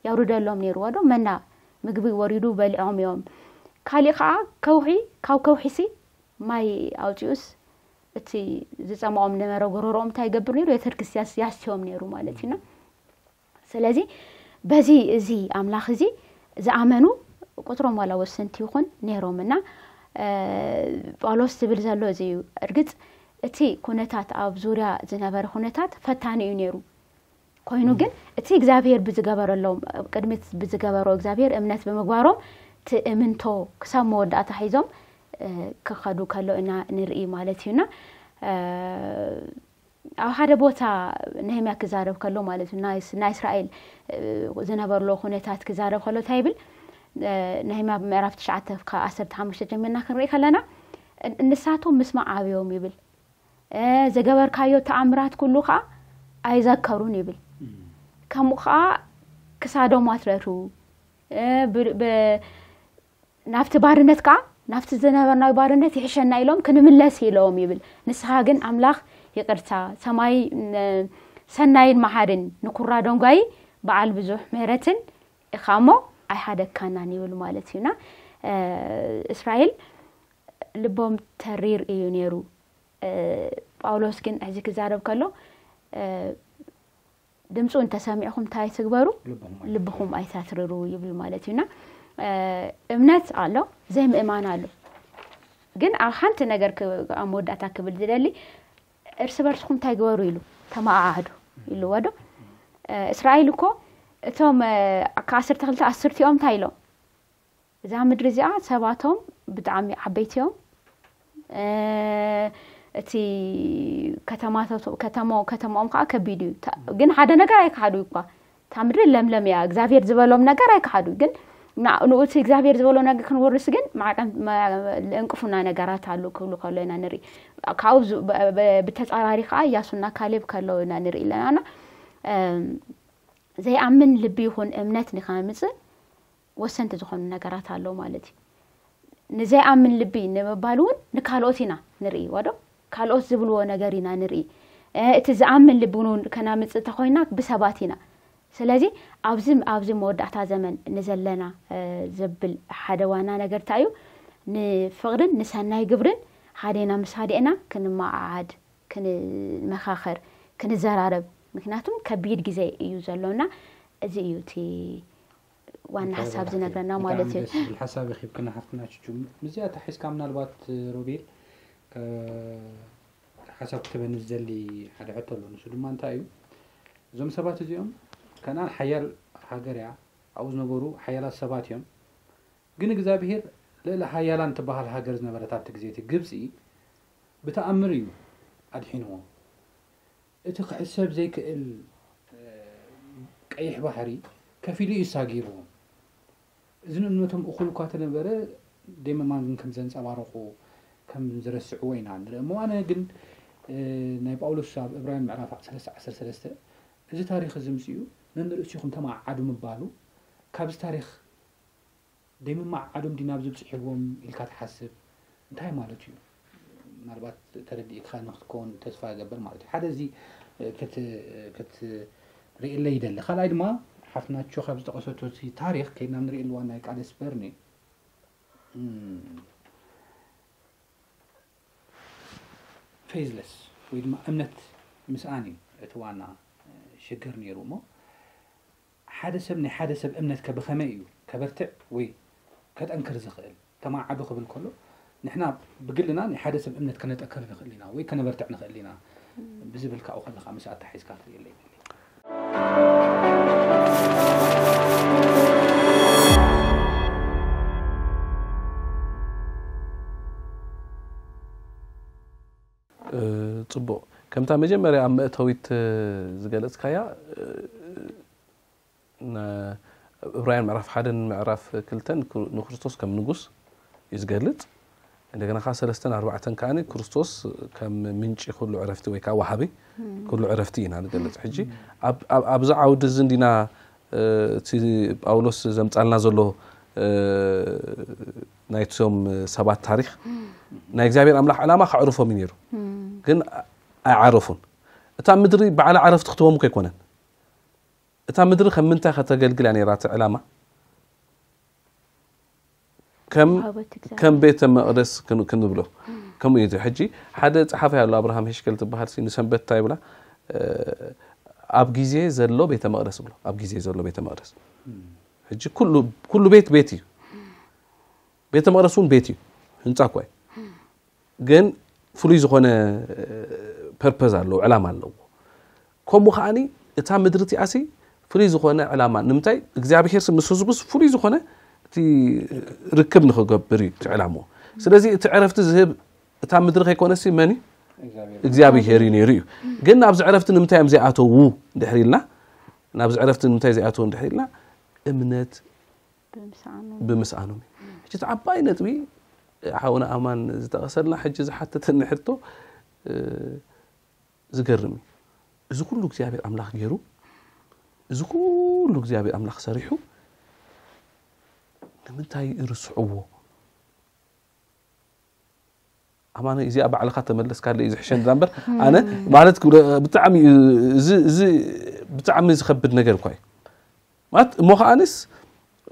ያውርደሎም ነይሩ ወዶ መና ምግቢ ወሪዱ በሊዖም እዮም። ካሊእ ከዓ ከውሒ ካብ ከውሒሲ ማይ ኣውፂኡስ እቲ ዝፀምኦም ነበረ ጎረሮኦም እንታይ ይገብር ነይሩ? የተርክስ ያስዮም ነይሩ ማለት እዩና። ስለዚ በዚ እዚ ኣምላኽ እዚ ዝኣመኑ ቁፅሮም ዋላ ወሰንቲ ይኹን ነይሮም እና ጳውሎስ ዝብል ዘሎ እዚ እዩ። እርግፅ እቲ ኩነታት ኣብ ዙርያ ዝነበረ ኩነታት ፈታኒ እዩ ነይሩ። ኮይኑ ግን እቲ እግዚኣብሔር ብዝገበረሎም ቅድሚት ብዝገበሮ እግዚኣብሔር እምነት ብምግባሮም ትእምንቶ ክሳብ መወዳእታ ሒዞም ክኸዱ ከሎ ኢና ንርኢ ማለት እዩና። ኣብ ሓደ ቦታ ነህምያ ክዛረብ ከሎ ማለት እዩ ናይ እስራኤል ዝነበርሎ ኩነታት ክዛረብ ከሎ እንታይ ይብል? ነህምያ ምዕራፍ ትሽዓተ ካብ ዓሰርተ ሓሙሽተ ጀሚርና ክንርኢ ከለና ንሳቶም ምስማዕ ኣብዮም ይብል። ዝገበርካዮ ተኣምራት ኩሉ ከዓ ኣይዘከሩን ይብል። ከምኡ ከዓ ክሳዶም ኣትረሩ። ናብቲ ባርነት ከዓ ናብቲ ዝነበርናዊ ባርነት ይሕሸና ኢሎም ክንምለስ ኢሎም ይብል። ንስኻ ግን ኣምላኽ ይቅርታ ሰማይ ሰናይን መሓርን ንኩራ ደንጓይ በዓል ብዙሕ ምህረትን ኢኻ እሞ ኣይሓደግካናን ይብል ማለት እዩና። እስራኤል ልቦም ተሪር እዩ ነይሩ። ጳውሎስ ግን ሕዚ ክዛረብ ከሎ ድምፁ እንተሰሚዕኹም እንታይ ትግበሩ? ልብኹም ኣይታትርሩ ይብል ማለት እዩና። እምነት ኣሎ፣ ዘይምእማን ኣሎ። ግን ኣብ ሓንቲ ነገር ኣብ መወዳእታ ክብል ዝደሊ እርስ በርስኹም እንታይ ግበሩ ኢሉ ተመዓዓዱ ኢልዎ ዶ? እስራኤል እኮ እቶም ከዓሰርተ ክልተ ኣስርቲኦም እንታይ ኢሎም? እዛ ምድሪ እዚኣ ሰባቶም ብጣዕሚ ዓበይቲ እዮም። እቲ ከተማታቶ- ከተማ- ከተማኦም ከዓ ከቢድ እዩ። ታ- ግን ሓደ ነገር ኣይከሓዱ እኳ እታ ምድሪ ለምለም እያ። እግዚኣብሔር ዝበሎም ነገር ኣይከሓዱ። ግን ና- ንኡ እቲ እግዚኣብሔር ዝበሎ ነገር ክንወርስ ግን ማዕቀን- ማ- ለእንቅፉና ነገራት ኣሉ ክብሉ ከሎ ኢና ንርኢ። ካብኡ ዝ- ብ- ብ- ብተፃራሪ ከዓ እያሱና ካሌብ ከለዉ ኢና ንርኢ ኣለናና። እም፣ ዘይኣምን ልቢ ይኹን እምነት ንኸምፅእ ወሰንቲ ዝኾኑ ነገራት ኣለዉ ማለት እዩ። ንዘይኣምን ልቢ ንምባል እውን ንካልኦት ኢና ንርኢ ወዶ ካልኦት ዝብልዎ ነገር ኢና ንርኢ። እቲ ዝኣምን ልቢ እውን ከናምፅእ እንተኮይና ብሰባት ኢና። ስለዚ ኣብዚ ኣብዚ መወዳእታ ዘመን ንዘለና ዘብል ሓደ ዋና ነገር እንታይ እዩ? ንፍቅርን ንሰናይ ግብርን ሓዴና ምስ ሃደእና ክንመዓዓድ ክንመኻኸር ክንዘራረብ። ምክንያቱም ከቢድ ግዜ እዩ ዘሎና። እዚ እዩ እቲ ዋና ሓሳብ ዝነግረና ማለት እዩ። ሓሳብ ኪብክና ሓፍትና ቹቹ። ምስዚኣ ተሒዝካ ምናልባት ሮቤል ሓሳብ ክትበኒ ዝደሊ ሓደ ሕቶ ኣሎ። ንሱ ድማ እንታይ እዩ? እዞም ሰባት እዚኦም ከነኣን ሓያል ሃገር እያ። ኣብኡ ዝነበሩ ሓያላት ሰባት እዮም። ግን እግዚኣብሄር ልእለ ሓያላን ትበሃል ሃገር ዝነበረት ኣብቲ ግዜ እቲ ግብፂ ብተኣምር እዩ ኣድሒንዎም። እቲ ክሕሰብ ዘይክእል ቀይሕ ባሕሪ ከፊሉ እዩ ሳጊርዎም። እዚ ንእምነቶም እኹል እኳ ተነበረ፣ ደይ ምእማን ግን ከም ዘንጸባረቑ፣ ከም ዝረስዕዎ ኢና ንርኢ እሞ። ኣነ ግን፣ እ፣ ናይ ጳውሎስ ኣብ ዕብራውያን ምዕራፍ ሰለስተ ዓሰርተ ሰለስተ፣ እዚ ታሪኽ እዚ ምስ እዩ፣ ነንርእሲኹም ተመዓዓዱ ምባሉ፣ ካብዚ ታሪኽ ደይ ምመዓዓዶም ድዩ ናብዚ ኣብጺሕዎም ኢልካ ትሓስብ? እንታይ ማለት እዩ? ምናልባት ተረዲእካ ንክትከውን ተስፋ እገብር ማለት እዩ። ሓደ እዚ፣ እ፣ ክት-፣ ክትርእየለይ ይደሊ። ካልኣይ ድማ ሓፍትናቸው ካብ ዝጠቐሰቶ እቲ ታሪኽ ከይድና ንርእየሉ ዋና ናይ ቃደስ በርኔ፣ እም፣ ፌዝለስ ወይ ድማ እምነት ምስኣን እዩ እቲ ዋና፣ እ፣ ሽግር ነይሩ እሞ፣ ሓደ ሰብ ናይ ሓደ ሰብ እምነትከ ብኸመይ እዩ ከበርትዕ ወይ ከጠንክር ዝኽእል? ተማዓዱ ክብል ከሎ፣ ንሕና ብግልና ናይ ሓደ ሰብ እምነት ከነጠንክር ንኽእል ኢና ወይ ከነበርትዕ ንኽእል ኢና ብዝብል ካብኡ ከለኻ ምስ ኣተሓሒዝካ ክትርእየለይ ይደሊ። እ፣ ጽቡቕ። ከምታ መጀመርያ ኣብ መእተዊት፣ እ፣ ዝገለጽካያ፣ እ፣ ነ-፣ ዕብራውያን ምዕራፍ ሓደን ምዕራፍ ክልተን ክሩ-፣ ንክርስቶስ ከም ንጉስ እዩ ዝገልጽ። እንደገና ከኣ ሰለስተን ኣርባዕተን ከኣ ክርስቶስ ከም ምንጪ ኩሉ ዕረፍቲ ወይ ከኣ ወሃቢ ኩሉ ዕረፍቲ ኢና ንገልጽ። ሕጂ ኣብ-፣ ኣብ-፣ ኣብዚ ዓውዲ እዚ እንዲና፣ እ፣ እቲ ጳውሎስ ዘምጻልና ዘሎ፣ እ፣ ናይቶም ሰባት ታሪኽ ናይ እግዚኣብሔር ኣምላኽ ዕላማ ከዕርፎም እዩ ነይሩ። ግን ኣይዓረፉን። እታ ምድሪ በዓል ዓረፍቲ ክትቦም እኮ ኣይኮነን። እታ ምድሪ ከም ምንታይ ከተገልግል እያ ነይራ እቲ ዕላማ? ከም፣ ሃወት እግዚኣብሔር። ከም ቤተ መቕደስ ክን-፣ ክንብሎ። ከምኡ እዩ። ሕጂ ሓደ ጸሓፊ ኣሎ፣ ኣብርሃም ሄሽከል ትበሃል ሲ፣ ንሰንበት እንታይ ይብላ? እ፣ ኣብ ግዜ ዘሎ ቤተ መቕደስ ብሎ። ኣብ ግዜ ዘሎ ቤተ መቕደስ። ሕጂ ኩሉ፣ ኩሉ ቤት ቤት እዩ። ቤተ መቕደስ እውን ቤት እዩ። ህንጻ እኳ እዩ። ግን ፍሉይ ዝኾነ፣ እ፣ ፐርፐዝ ኣለዎ፣ ዕላማ ኣለዎ። ከምኡ ከዓኒ እታ ምድሪ እቲኣሲ ፍሉይ ዝኾነ ዕላማ፣ ንምንታይ እግዚኣብሔር ምስ ህዝቡስ ፍሉይ ዝኾነ እቲ ርክብ ንኽገብር እዩ እቲ ዕላምኡ። ስለዚ እቲ ዕረፍቲ ዝህብ እታ ምድሪ ከይኮነሲ መን እዩ? እግዚኣብሔር እግዚኣብሔር እዩ ነይሩ እዩ። ግን ናብዚ ዕረፍቲ ንምንታይ እዮም ዘይኣተዉ እንድሕር ኢልና፣ ናብዚ ዕረፍቲ ንምንታይ ዘይኣተዉ እንድሕር ኢልና፣ እምነት ብምስኣኑ። ብምስኣኖም እዩ። ሕጂ እቲ ዓባይ ነጥቢ ሓውና ኣማን ዝጠቐሰልና ሕጂ ዝሓተተኒ ሕቶ፣ እ፣ ዝገርም እዩ። እዚ ኩሉ እግዚኣብሔር ኣምላኽ ገይሩ፣ እዚ ኩሉ እግዚኣብሔር ኣምላኽ ሰሪሑ ንምንታይ ይርስዕዎ? ኣማነ እዚኣ ባዕልኻ ተመለስካለይ እዩ ዝሕሸኒ እምበር፣ ኣነ ማለት ክብሎ ብጣዕሚ እዩ፣ እዚ፣ እዚ ብጣዕሚ ዝኸብድ ነገር እኳ እዩ። ማለት እሞ ከዓንስ፣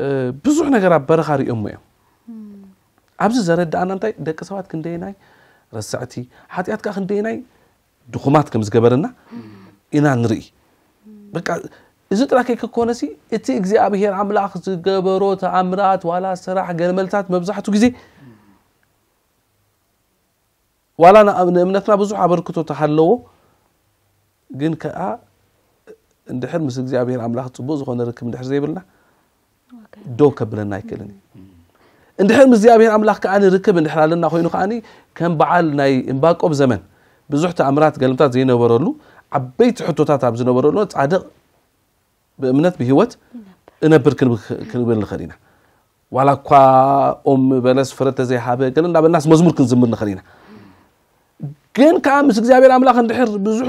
እ፣ ብዙሕ ነገር ኣብ በረኻ ሪኦሞ እዮም። ኣብዚ ዘረድኣና እንታይ፣ ደቂ ሰባት ክንደየናይ ረሳዕቲ፣ ሓጢኣት ከኣ ክንደየናይ ድኹማት ከም ዝገበረና ኢና ንርኢ። በቃ እዚ ጥራይ ከይከኮነሲ፣ እቲ እግዚኣብሔር ኣምላኽ ዝገበሮ ተኣምራት ዋላ ስራሕ ገለመልታት መብዛሕቱ ግዜ ዋላ ንእምነትና ብዙሕ ኣበርክቶ ተሃለዎ፣ ግን ከኣ እንድሕር ምስ እግዚኣብሔር ኣምላኽ ጽቡቕ ዝኾነ ርክብ እንድሕር ዘይብልና፣ ኦኬ። ደው ከብለና ኣይክእልን እዩ። እንድሕር ምስ እግዚኣብሔር ኣምላኽ ከኣ ርክብ እንድሕር ኣለና ኮይኑ ከኣ፣ ከም በዓል ናይ እምባቆም ዘመን ብዙሕ ተኣምራት ገልምታት ዘይነበረሉ፣ ዓበይቲ ሕቶታት ኣብ ዝነበረሉ፣ ጻድቕ ብእምነት ብህይወት እነብር ክንብ-፣ ክንብል ንኽእል ኢና። ዋላ እኳ ኦም በለስ ፍረ ተዘይሃበ፣ ገለ እንዳበልናስ መዝሙር ክንዝምር ንኽእል ኢና። ግን ከኣ ምስ እግዚኣብሔር ኣምላኽ እንድሕር ብዙሕ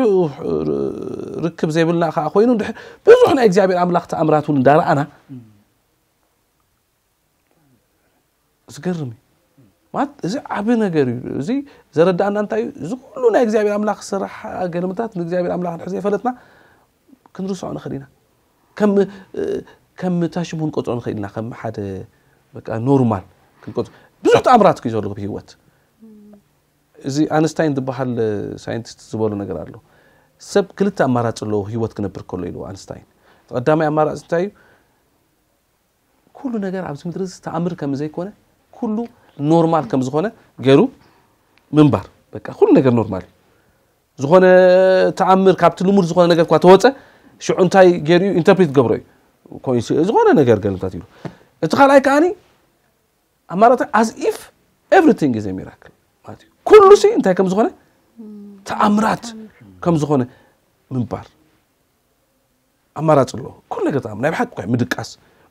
ርክብ ዘይብልና ከኣ ኮይኑ፣ እንድሕር ብዙሕ ናይ እግዚኣብሔር ኣምላኽ ተኣምራት እውን እንዳረኣና፣ ዝገርም እዩ። ማለት እዚ ዓቢ ነገር እዩ። እዚ ዘረዳእና እንታይ እዩ? እዚ ኩሉ ናይ እግዚኣብሔር ኣምላኽ ስራሕ ገለመታት ንእግዚኣብሔር ኣምላኽ እንድሕር ዘይፈለጥና ክንርስዖ ንኽእል ኢና። ከም፣ ከም ታሽሙ ክንቆጽሮ ንኽእል ኢና። ከም ሓደ በቃ ኖርማል ክንቆጽሮ። ብዙሕ ተኣምራት እዩ ዘሎ ብህይወት። እዚ ኣንስታይን ዝበሃል ሳይንቲስት ዝበሎ ነገር ኣሎ። ሰብ ክልተ ኣማራጺ ኣለዎ ህይወት ክነብር ከሎ ኢልዎ ኣንስታይን። እቲ ቀዳማይ ኣማራጺ እንታይ እዩ? ኩሉ ነገር ኣብዚ ምድሪ እዚ ተኣምር ከም ዘይኮነ፣ ኩሉ ኖርማል ከም ዝኾነ ገይሩ ምንባር። በቃ ኩሉ ነገር ኖርማል እዩ። ዝኾነ ተኣምር ካብቲ ልሙድ ዝኾነ ነገር እኳ ተወፀ፣ ሽዑ እንታይ ገይሩ እዩ ኢንተርፕሪት ገብሮ እዩ። ኮይንሲ-፣ ዝኾነ ነገር ገልምታት ኢሉ። እቲ ካልኣይ ከኣኒ ኣማራጺ as if everything is a miracle ማለት እዩ። ኩሉ ሲ እንታይ ከም ዝኾነ፣ ተኣምራት ከም ዝኾነ ምንባር። ኣማራጺ ኣለዎ። ኩሉ ነገር ተኣምር፣ ናይ ብሓቂ እኳ እዩ ምድቃስ።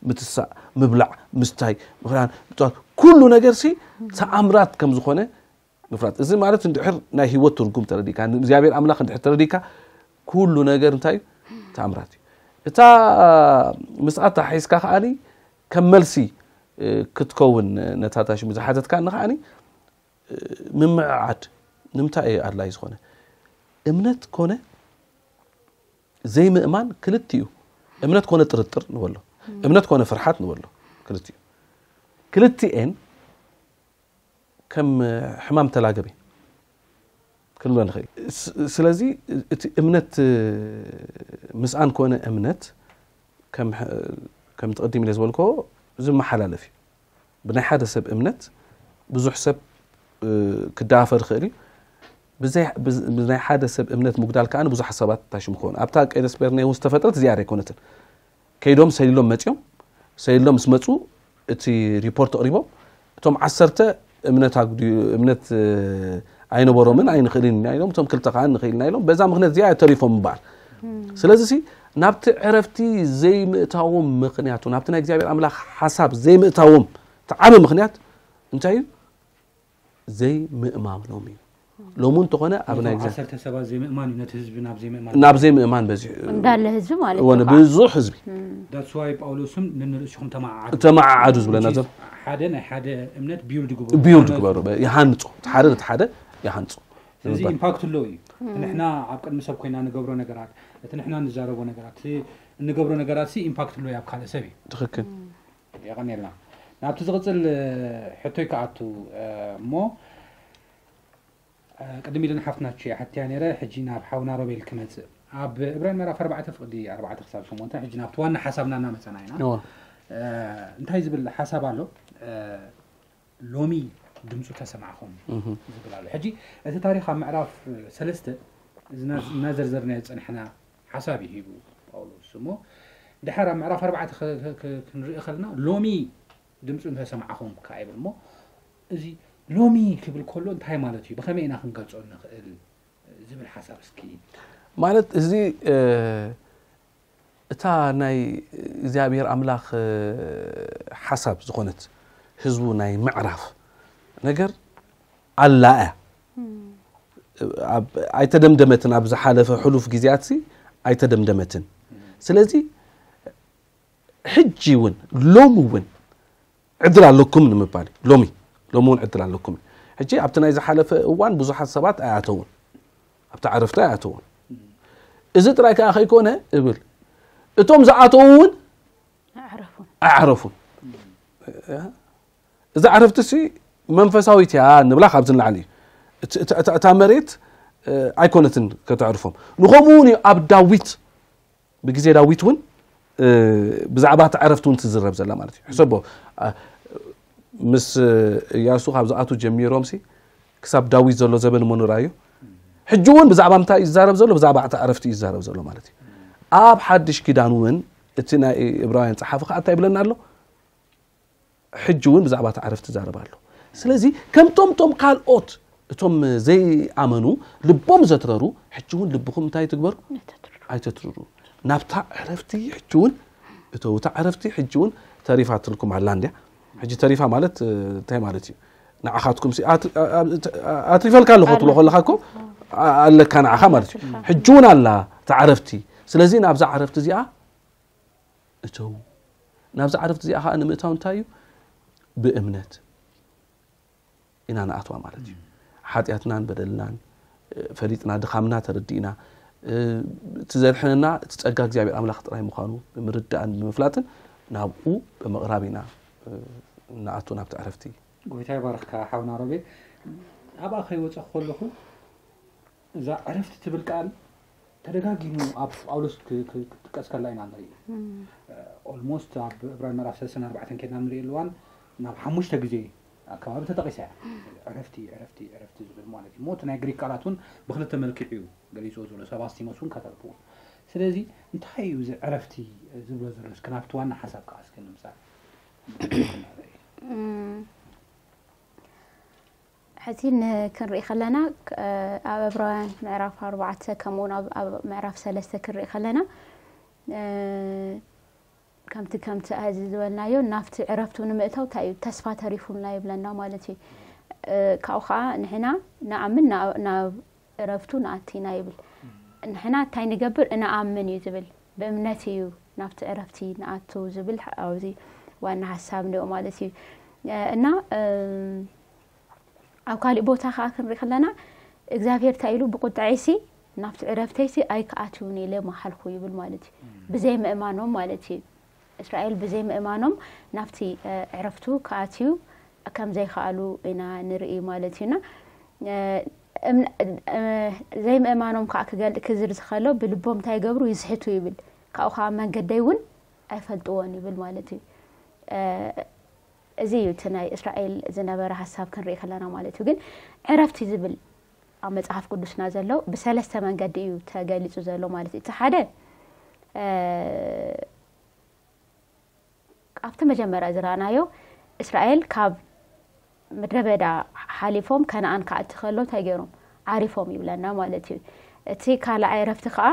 ምትሳእ፣ ምብላዕ፣ ምስታይ፣ ምኽዳን፣ ምጥዋት፣ ኩሉ ነገር ሲ ተኣምራት ከም ዝኾነ ምፍላጥ። እዚ ማለት እንድሕር ናይ ህይወት ትርጉም ተረዲእካ፣ ንእግዚኣብሔር ኣምላኽ እንድሕር ተረዲእካ፣ ኩሉ ነገር እንታይ እዩ? ተኣምራት እዩ። እታ ምስኣ ተሓሒዝካ ከኣኒ ከም መልሲ፣ እ፣ ክትከውን ነታ ታሽሙ ዝሓተትካኒ ከኣኒ፣ እ፣ ምምዕዓድ ንምንታይ እዩ ኣድላዪ ዝኾነ? እምነት ኮነ ዘይምእማን ክልቲኡ፣ እምነት ኮነ ጥርጥር ንበሎ፣ እምነት ኮነ ፍርሓት ንበሎ፣ ክልቲኡ። ክልቲኤን ከም ሕማም ተላገበ ክንብሎ ንኽእል። ስ-፣ ስለዚ እቲ እምነት፣ ምስኣን ኮነ እምነት ከም ሕ-፣ ከም ትቕድም ኢለ ዝበልኮ ዝመሓላለፍ እዩ። ብናይ ሓደ ሰብ እምነት ብዙሕ ሰብ፣ እ፣ ክደፋፈር ይኽእል እዩ። ብዘይ-፣ ብዝ-፣ ብናይ ሓደ ሰብ እምነት ምጉዳል ከኣ ብዙሓት ሰባት ታሽሙ ክኾኑ። ኣብታ ቀይዲ ስፔርኔ እውን ዝተፈጥረት እዚኣ ኣይኮነትን። ከይዶም ሰሊሎም መጺኦም፣ ሰሊሎም ምስ መጹ እቲ ሪፖርት ኣቕሪቦም፣ እቶም ዓሰርተ እምነት ኣጉድዩ-፣ እምነት፣ እ፣ ኣይነበሮምን ኣይንኽእልን ኢና ኢሎም፣ እቶም ክልተ ከኣ ንኽእል ኢና ኢሎም፣ በዛ ምኽንያት እዚኣ ተሪፎም ምበኣል። ስለዚ ሲ ናብቲ ዕረፍቲ ዘይምእታዎም ምኽንያቱ፣ ናብቲ ናይ እግዚኣብሔር ኣምላኽ ሓሳብ ዘይምእታዎም እቲ ዓቢ ምኽንያት እንታይ እዩ? ዘይምእማኖም እዩ። ሎሚ እንተኾነ ኣብ ናይ ነቶም እግዚኣብሔር ዓሰርተ ሰባት ዘይምእማን እዩ ነቲ ህዝቢ ናብ ዘይምእማን ናብ ዘይምእማን በዚሑ። እንዳለ ህዝቢ ማለት እወ፣ እዩ ከዓ። ብዙሕ ህዝቢ። እም። That's why ጳውሎስም ንንርእስኹም ተመዓዓዱ። ተመዓዓዱ ዝብለና which is ዘሎ። ሓደ ናይ ሓደ እምነት ቢውልድ ግበሩ። ቢውልድ ሃነጹ። ግበሩ። በ-፣ ይሃንጹ። እቲ ሓደ ነቲ ሓደ ይሃንጹ። ስለዚ ንምባል። ኢምፓክት ኣለዎ እዩ። ንሕና ኣብ ቅድሚ ሰብ ኮይና ንገብሮ ነገራት፣ እቲ ንሕና ንዛረቦ ነገራት፣ እቲ እንገብሮ ነገራት ሲ ኢምፓክት ኣለዎ እዩ ኣብ ካልእ ሰብ እዩ። ትኽክል። የቐንየልና። ናብቲ ዝቕጽል፣ እ፣ ሕቶይ ክኣቱ፣ እ፣ እሞ፣ እ፣ ቅድም ኢለን ሓፍትና ቹ ሓትያ ነይረ፣ ሕጂ ናብ ሓውና ሮቤል ክመጽእ። ኣብ ዕብራን ምዕራፍ ኣርባዕተ ፍቕዲ ኣርባዕተ ክሳብ ሸሞንተ፣ ሕጂ ናብቲ ዋና ሓሳብና እናመጸና ኢና። እወ። እ፣ እንታይ ዝብል ሓሳብ ኣሎ? እ፣ ሎሚ ድምፁ ተሰማዕኹም እህ። ዝብል ኣሎ። ሕጂ እቲ ታሪኽ ኣብ ምዕራፍ ሰለስተ ዝና-፣ እናዘርዘርናዮ ዝጸንሕና ሓሳብ እዩ ሂቡ ጳውሎስ። እሞ ድሓር ኣብ ምዕራፍ ኣርባዕተ ክ-፣ ክ-፣ ክ-፣ ክንርኢ ከለና ሎሚ ድምፁ እንተሰማዕኹም ከኣ ይብል። እሞ እዚ ሎሚ ክብል ከሎ እንታይ ማለት እዩ? ብኸመይ ኢና ክንገልጾ ንኽእል? ዝብል ሓሳብ እስኪ። ማለት እዚ፣ እ፣ እታ ናይ እግዚኣብሔር ኣምላኽ፣ እ፣ ሓሳብ ዝኾነት ህዝቡ ናይ ምዕራፍ ነገር ኣላ እያ። እም። ኣብ፣ ኣይተደምደመትን፣ ኣብ ዝሓለፈ ሕሉፍ ግዜያትሲ ኣይተደምደመትን። ስለዚ ሕጂ እውን፣ ሎሚ እውን ዕድል ኣለኩም ንምባል እዩ። ሎሚ፣ ሎሚ እውን ዕድል ኣለኩም እዩ። ሕጂ ኣብቲ ናይ ዝሓለፈ እዋን ብዙሓት ሰባት ኣይኣተውን፣ ኣብቲ ዕረፍቲ ኣይኣተውን። እዚ ጥራይ ከኣ ከይኮነ እብል፣ እቶም ዝኣተዉ እውን ኣዕረፉን። ኣዕረፉን። እዚ ዕረፍቲ ሲ መንፈሳዊት እያ ንብላ ካብዚ ንላዕሊ እዩ። እቲ፣ እታ፣ እታ፣ እታ መሬት፣ እ፣ ኣይኮነትን ከተዕርፎም። ንኸምኡ እውን እዩ ኣብ ዳዊት፣ ብግዜ ዳዊት እውን፣ እ፣ ብዛዕባ እቲ ዕረፍቲ እውን ትዝረብ ዘላ ማለት እዩ። ሕሰቦ፣ አ፣ ምስ፣ እ፣ እያሱ ካብ ዝኣቱ ጀሚሮም ሲ ክሳብ ዳዊት ዘሎ ዘበን እሞ ንርኣዮ። ሕጂ እውን ብዛዕባ ምንታይ እዩ ዝዛረብ ዘሎ? ብዛዕባ እቲ ዕረፍቲ እዩ ዝዛረብ ዘሎ ማለት እዩ። ኣብ ሓድሽ ኪዳን እውን እቲ ናይ ዕብራውያን ጸሓፊ ከኣ እንታይ ይብለና ኣሎ? ሕጂ እውን ብዛዕባ እቲ ዕረፍቲ ይዛረብ ኣሎ። ስለዚ ከምቶም ቶም ካልኦት እቶም ዘይኣመኑ ልቦም ዘትረሩ፣ ሕጂ እውን ልብኹም እንታይ ትግበሩ? ኣይተትርሩ። ኣይተትርሩ። ናብታ ዕረፍቲ ሕጂ እውን እተው። እታ ዕረፍቲ ሕጂ እውን ተሪፋትልኩም ኣላ እንድያ። ሕጂ ተሪፋ ማለት፣ እ፣ እንታይ ማለት እዩ? ንዓኻትኩም ሲ-፣ ኣት-፣ ኣ-፣ ኣ-፣ ኣትሪፈልካ ኣለኹ ትብሎ ኣለካ። ከለኻ እኮ፣ ኣ-፣ ኣለካ ንዓኻ ማለት እዩ። ኣለካ። ሕጂ እውን ኣላ እታ ዕረፍቲ። ስለዚ ናብዛ ዕረፍቲ እዚኣ እተው። ናብዛ ዕረፍቲ እዚኣ ኸኣ ንምእታው እንታይ እዩ? ብእምነት ኢና ንኣትዋ ማለት እዩ። ሓጢኣትናን በደልናን፣ እ፣ ፈሊጥና፣ ድኻምና ተረዲእና፣ እ፣ እቲ ዘድሕነና እቲ ጸጋ እግዚኣብሔር ኣምላኽ ጥራይ ምዃኑ ብምርዳእን ብምፍላጥን ናብኡ ብምቕራብ ኢና፣ እ፣ ንኣቱ ናብቲ ዕረፍቲ። ጎይታ ይባርኽካ ሓውና ሮቤል። ኣብኣ ከይወጸኹ ከለኹ እዛ ዕረፍቲ ትብል ቃል ተደጋጊሙ ኣብ ጳውሎስ ክ-፣ ክ-፣ ክትጥቀስ ከላ ኢና ንርኢ። እም። ኦልሞስት ኣብ ዕብራን ምዕራፍ ሰለስተን ኣርባዕተን ከድና ንርኢ ኣለዋን ናብ ሓሙሽተ ግዜ ኣከባቢ ተጠቒሳ እያ። ዕረፍቲ፣ ዕረፍቲ፣ ዕረፍቲ ዝብል ማለት እዩ። እሞ እቲ ናይ ግሪክ ቃላት እውን ብክልተ መልክዕ እዩ ገሊፅዎ ዘሎ። ሰባስቲሞስ እውን ከተርፍዎ። ስለዚ እንታይ እዩ እዚ ዕረፍቲ ዝብሎ ዘሎ? እስኪ ናብቲ ዋና ሓሳብ ከዓ እስኪ ንምፃእ። እም። ሕዚ ን-፣ ክንርኢ ከለና፣ ክ-፣ ኣብ ዕብራውያን ምዕራፍ ኣርባዕተ፣ ከምኡውን ኣብ፣ ኣብ ምዕራፍ ሰለስተ ክንርኢ ከለና፣ እ፣ ከምቲ ከምቲ ኣዚ ዝበልናዮ ናብቲ ዕረፍቱ ንምእታው እንታይ እዩ ተስፋ ተሪፉልና ይብለና ማለት እዩ። ካብኡ ከዓ ንሕና ንኣምን ናብ ዕረፍቱ ንኣቲና ይብል። ንሕና እንታይ ንገብር? እንኣምን እዩ ዝብል። ብእምነት እዩ ናብቲ ዕረፍቲ ንኣቱ ዝብል ኣብዚ ዋና ሓሳብ ንኦ ማለት እዩ። እና ኣብ ካሊእ ቦታ ከዓ ክንርኢ ከለና እግዚኣብሔር እንታይ ኢሉ? ብቁጥዐይሲ ናብቲ ዕረፍተይሲ ኣይክኣትውን ኢለ መሓልኩ ይብል ማለት እዩ። ብዘይ ምእማኖም ማለት እዩ። እስራኤል ብዘይ ምእማኖም ናብቲ ዕረፍቱ ክኣትዩ ከም ዘይከኣሉ ኢና ንርኢ ማለት እዩና። ዘይምእማኖም ከዓ ክገልጥ ክዝር ዝኸሎ ብልቦም እንታይ ይገብሩ? ይስሕቱ ይብል። ካብኡ ከዓ መንገደይ እውን ኣይፈልጥዎን ይብል ማለት እዩ። እዚ እዩ እቲ ናይ እስራኤል ዝነበረ ሓሳብ ክንርኢ ከለና ማለት እዩ። ግን ዕረፍቲ ዝብል ኣብ መጽሓፍ ቅዱስና ዘሎ ብሰለስተ መንገዲ እዩ ተገሊጹ ዘሎ ማለት እዩ። እቲ ሓደ ኣብቲ መጀመርያ ዝረኣናዮ እስራኤል ካብ ምድረ በዳ ሓሊፎም ከነኣን ክኣቲ ከሎ እንታይ ገይሮም? ዓሪፎም ይብለና ማለት እዩ። እቲ ካልኣይ ዕረፍቲ ከዓ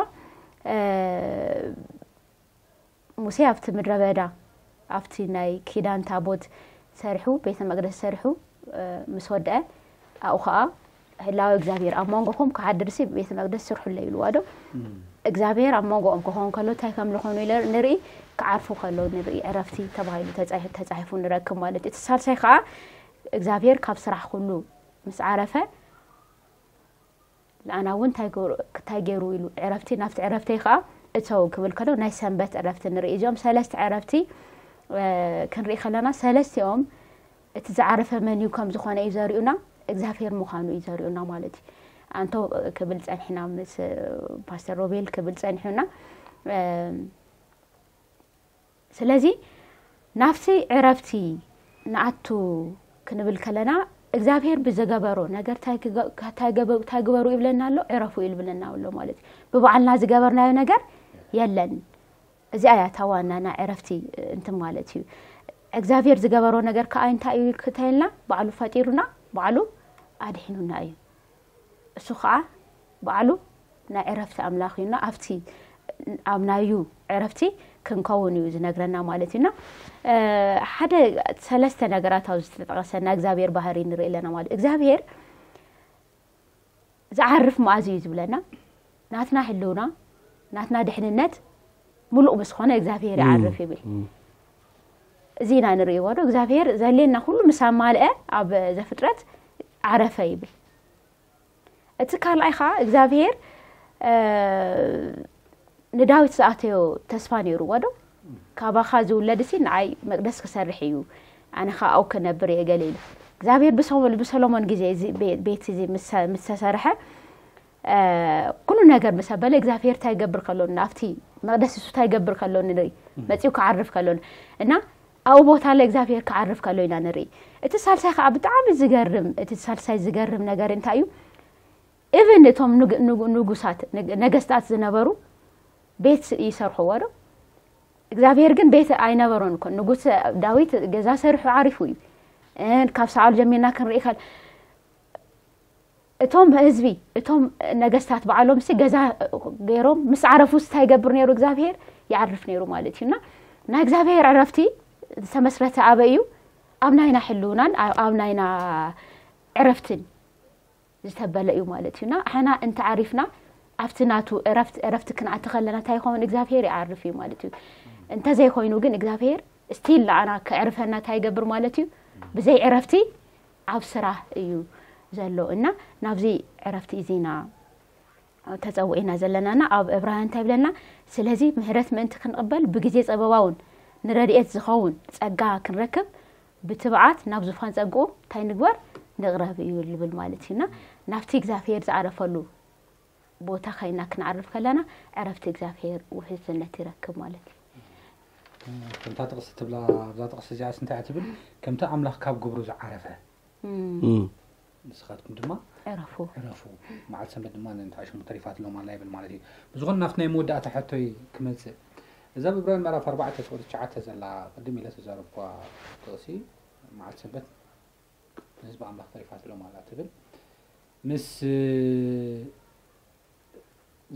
ሙሴ ኣብቲ ምድረ በዳ ኣብቲ ናይ ኪዳን ታቦት ሰሪሑ ቤተ መቅደስ ሰሪሑ ምስ ወደአ ኣብኡ ከዓ ህላወ እግዚኣብሔር ኣብ መንጎኹም ክሓድርሲ ቤተ መቅደስ ስርሑለይ ኢልዋ ዶ እግዚኣብሔር ኣብ መንጎኦም ክኸውን ከሎ እንታይ ከም ዝኾኑ ንርኢ። ክዓርፉ ከሎ ንርኢ። ዕረፍቲ ተባሂሉ ተፃሒፉ ንረክብ ማለት እዩ። እቲ ሳልሳይ ከዓ እግዚኣብሔር ካብ ስራሕ ኩሉ ምስ ዓረፈ ንኣና እውን እንታይ ገይሩ ኢሉ ዕረፍቲ ናብቲ ዕረፍተይ ከዓ እተው ክብል ከሎ ናይ ሰንበት ዕረፍቲ ንርኢ። እዚኦም ሰለስተ ዕረፍቲ ክንርኢ ከለና ሰለስቲኦም እቲ ዝዓረፈ መን እዩ ከም ዝኾነ እዩ ዘርእዩና፣ እግዚኣብሔር ምዃኑ እዩ ዘርእዩና ማለት እዩ። ኣንቶ ክብል ጸኒሕና ምስ ፓስተር ሮቤል ክብል ጸኒሑና። ስለዚ ናብቲ ዕረፍቲ ንኣቱ ክንብል ከለና እግዚኣብሔር ብዝገበሮ ነገር እንታይ ግበሩ ይብለና ኣሎ? ዕረፉ ይብለና ኣሎ ማለት እዩ። ብባዕልና ዝገበርናዮ ነገር የለን። እዚኣ እያ እታ ዋና ናይ ዕረፍቲ እንትን ማለት እዩ። እግዚኣብሔር ዝገበሮ ነገር ከዓ እንታይ እዩ ክተልና? ባዕሉ ፈጢሩና፣ ባዕሉ ኣድሒኑና እዩ። እሱ ከዓ ባዕሉ ናይ ዕረፍቲ ኣምላኽ እዩና ኣብቲ ኣብ ናዩ ዕረፍቲ ክንከውን እዩ ዝነግረና ማለት እዩና። ሓደ ሰለስተ ነገራት ኣብዚ ዝተጠቐሰ ናይ እግዚኣብሔር ባህሪ ንርኢ ኣለና ማለት እግዚኣብሔር ዝዓርፍ መኣዝ እዩ ዝብለና። ናትና ህልውና ናትና ድሕንነት ሙሉእ ምስ ኾነ እግዚኣብሔር ይዓርፍ ይብል። እዚ ኢና ንርእይዎ ዶ እግዚኣብሔር ዘሌና ኩሉ ምስ ኣማልአ ኣብ ዘፍጥረት ዓረፈ ይብል። እቲ ካልኣይ ከዓ እግዚኣብሔር ንዳዊት ዝኣተዮ ተስፋ ነይርዎ ዶ? ካባኻ ዝውለድ ሲ ንዓይ መቅደስ ክሰርሕ እዩ፣ ኣነ ከዓ ኣብኡ ክነብር እየ ገለ ኢሉ እግዚኣብሔር ብሰሎሞን ግዜ እዚ ቤት እዚ ምስ ተሰርሐ ኩሉ ነገር ምስ ኣበለ እግዚኣብሔር እንታይ ይገብር ከሎ ኣብቲ መቅደስ እሱ እንታይ ይገብር ከሎ ንርኢ መፂኡ ክዓርፍ ከሎ እና ኣብኡ ቦታ ለ እግዚኣብሔር ክዓርፍ ከሎ ኢና ንርኢ። እቲ ሳልሳይ ከዓ ብጣዕሚ ዝገርም እቲ ሳልሳይ ዝገርም ነገር እንታይ እዩ? ኢቨን እቶም ንጉሳት ነገስታት ዝነበሩ ቤት ይሰርሕዎ ዶ? እግዚኣብሔር ግን ቤት ኣይነበሮን እኮ። ንጉስ ዳዊት ገዛ ሰሪሑ ዓሪፉ እዩ። ካብ ሳኦል ጀሚርና ክንርኢ ከል እቶም ህዝቢ እቶም ነገስታት ባዕሎም ሲ ገዛ ገይሮም ምስ ዓረፉ እንታይ ይገብር ነይሩ እግዚኣብሔር? ይዓርፍ ነይሩ ማለት እዩ። እና ናይ እግዚኣብሔር ዕረፍቲ ዝተመስረተ ኣበይ እዩ? ኣብ ናይና ሕልውናን ኣብ ናይና ዕረፍትን ዝተበለ እዩ ማለት እዩ። እና ሕና እንተ ዓሪፍና ኣብቲ ናቱ ዕረፍቲ ዕረፍቲ ክንኣቲ ከለና እንታይ ይኸውን? እግዚኣብሔር ይዓርፍ እዩ ማለት እዩ። እንተዘይኮይኑ ግን እግዚኣብሔር ስቲል ንዓና ከዕርፈና እንታይ ይገብር ማለት እዩ? ብዘይ ዕረፍቲ ኣብ ስራሕ እዩ ዘሎ። እና ናብዚ ዕረፍቲ እዚና ተጸውዒና ዘለናና ኣብ ዕብራውያን እንታይ ይብለና? ስለዚ ምህረት ምእንቲ ክንቕበል ብግዜ ጸበባውን ንረድኤት ዝኸውን ጸጋ ክንረክብ ብትብዓት ናብ ዙፋን ጸግኡ እንታይ ንግበር? ንቕረብ እዩ ልብል ማለት እዩና ናብቲ እግዚኣብሔር ዝዓረፈሉ ቦታ ኸይና ክንዓርፍ ከለና ዕረፍቲ እግዚኣብሔር ውሕስነት ይረክብ ማለት እዩ። ከምታ ጥቕሲ ትብላ ኣብዛ ጥቕሲ እዚኣስ እንታይ እያ ትብል? ከምቲ ኣምላኽ ካብ ግብሩ ዝዓረፈ ንስኻትኩም ድማ ዕረፉ። ዕረፉ። መዓልቲ ሰንበት ድማ ንንትዓሽሙ ተሪፋትሎም ኣላ ይብል ማለት እዩ። ብዝኾነ ናብቲ ናይ መወዳእታ ሕቶይ ክመጽእ እዛ ብብራውያን ምዕራፍ ኣርባዕተ ፍቕሪ ትሽዓተ ዘላ ቅድም ኢለ ተዛረብኳ ጥቕሲ መዓልቲ ሰንበት ንህዝቢ ኣምላኽ ተሪፋትሎም ኣላ ትብል ምስ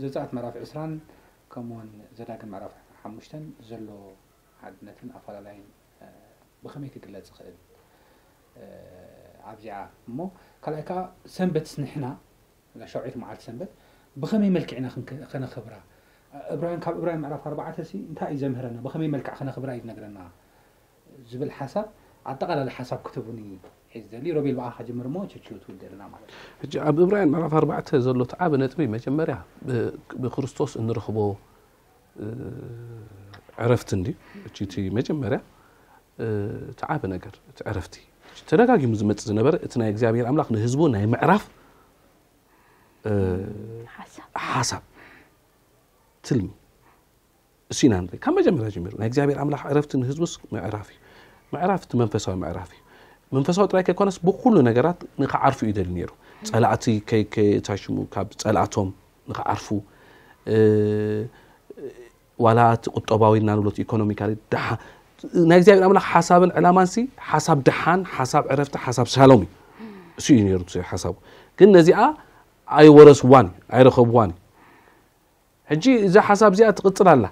ዘጸኣት ምዕራፍ ዕስራን ከምኡውን ዘዳግም ምዕራፍ ሓሙሽተን ዘሎ ሓድነትን ኣፈላላይን ብኸመይ ክግለጽ ይኽእል? ኣብዚኣ እሞ ካልኣይ ከዓ ሰንበት ንሕና ሻውዒት መዓልቲ ሰንበት ብኸመይ መልክዕ ኢና ከነኽብራ? እብራውያን ካብ እብራውያን ምዕራፍ ኣርባዕተ ሲ እንታይ እዩ ዘምህረና? ብኸመይ መልክዕ ከነኽብራ እዩ ዝነግረና ዝብል ሓሳብ ኣጠቓላሊ ሓሳብ ክትቡኒ እየ ዝደሊ። ሮቤል ብኣኻ ጀምር እሞ ችቹ ትውደልና ማለት እዩ። ሕጂ ኣብ እብራውያን ምዕራፍ ኣርባዕተ ዘሎ እቲ ዓቢ ነጥቢ መጀመርያ ብክርስቶስ እንረኽቦ ዕረፍቲ እንዲ እቲ መጀመርያ እቲ ዓቢ ነገር እቲ ዕረፍቲ ተደጋጊሙ ዝመጽእ ዝነበረ እቲ ናይ እግዚኣብሔር ኣምላኽ ንህዝቡ ናይ ምዕራፍ ሓሳብ ትልሚ እሱ ኢና ንርኢ ካብ መጀመርያ ጀሚሩ ናይ እግዚኣብሔር ኣምላኽ ዕረፍቲ ንህዝቡስ ምዕራፍ እዩ። ምዕራፍ እቲ መንፈሳዊ ምዕራፍ እዩ። መንፈሳዊ ጥራይ ከይኮነስ ብኩሉ ነገራት ንክዓርፉ እዩ ደሊ ነይሩ። ጸላእቲ ከይታሽሙ ካብ ጸላእቶም ንክዓርፉ ዋላ እቲ ቁጠባዊ እናንብሎ ኢኮኖሚካሊ ድሓ ናይ እግዚኣብሔር ኣምላኽ ሓሳብን ዕላማንሲ ሓሳብ ድሓን ሓሳብ ዕረፍቲ ሓሳብ ሻሎም እዩ። እሱ እዩ ነይሩ ሓሳቡ። ግን ነዚኣ ኣይወረስዋን ኣይረኸብዋን እዩ። ሕጂ እዛ ሓሳብ እዚኣ ትቕጽል ኣላ።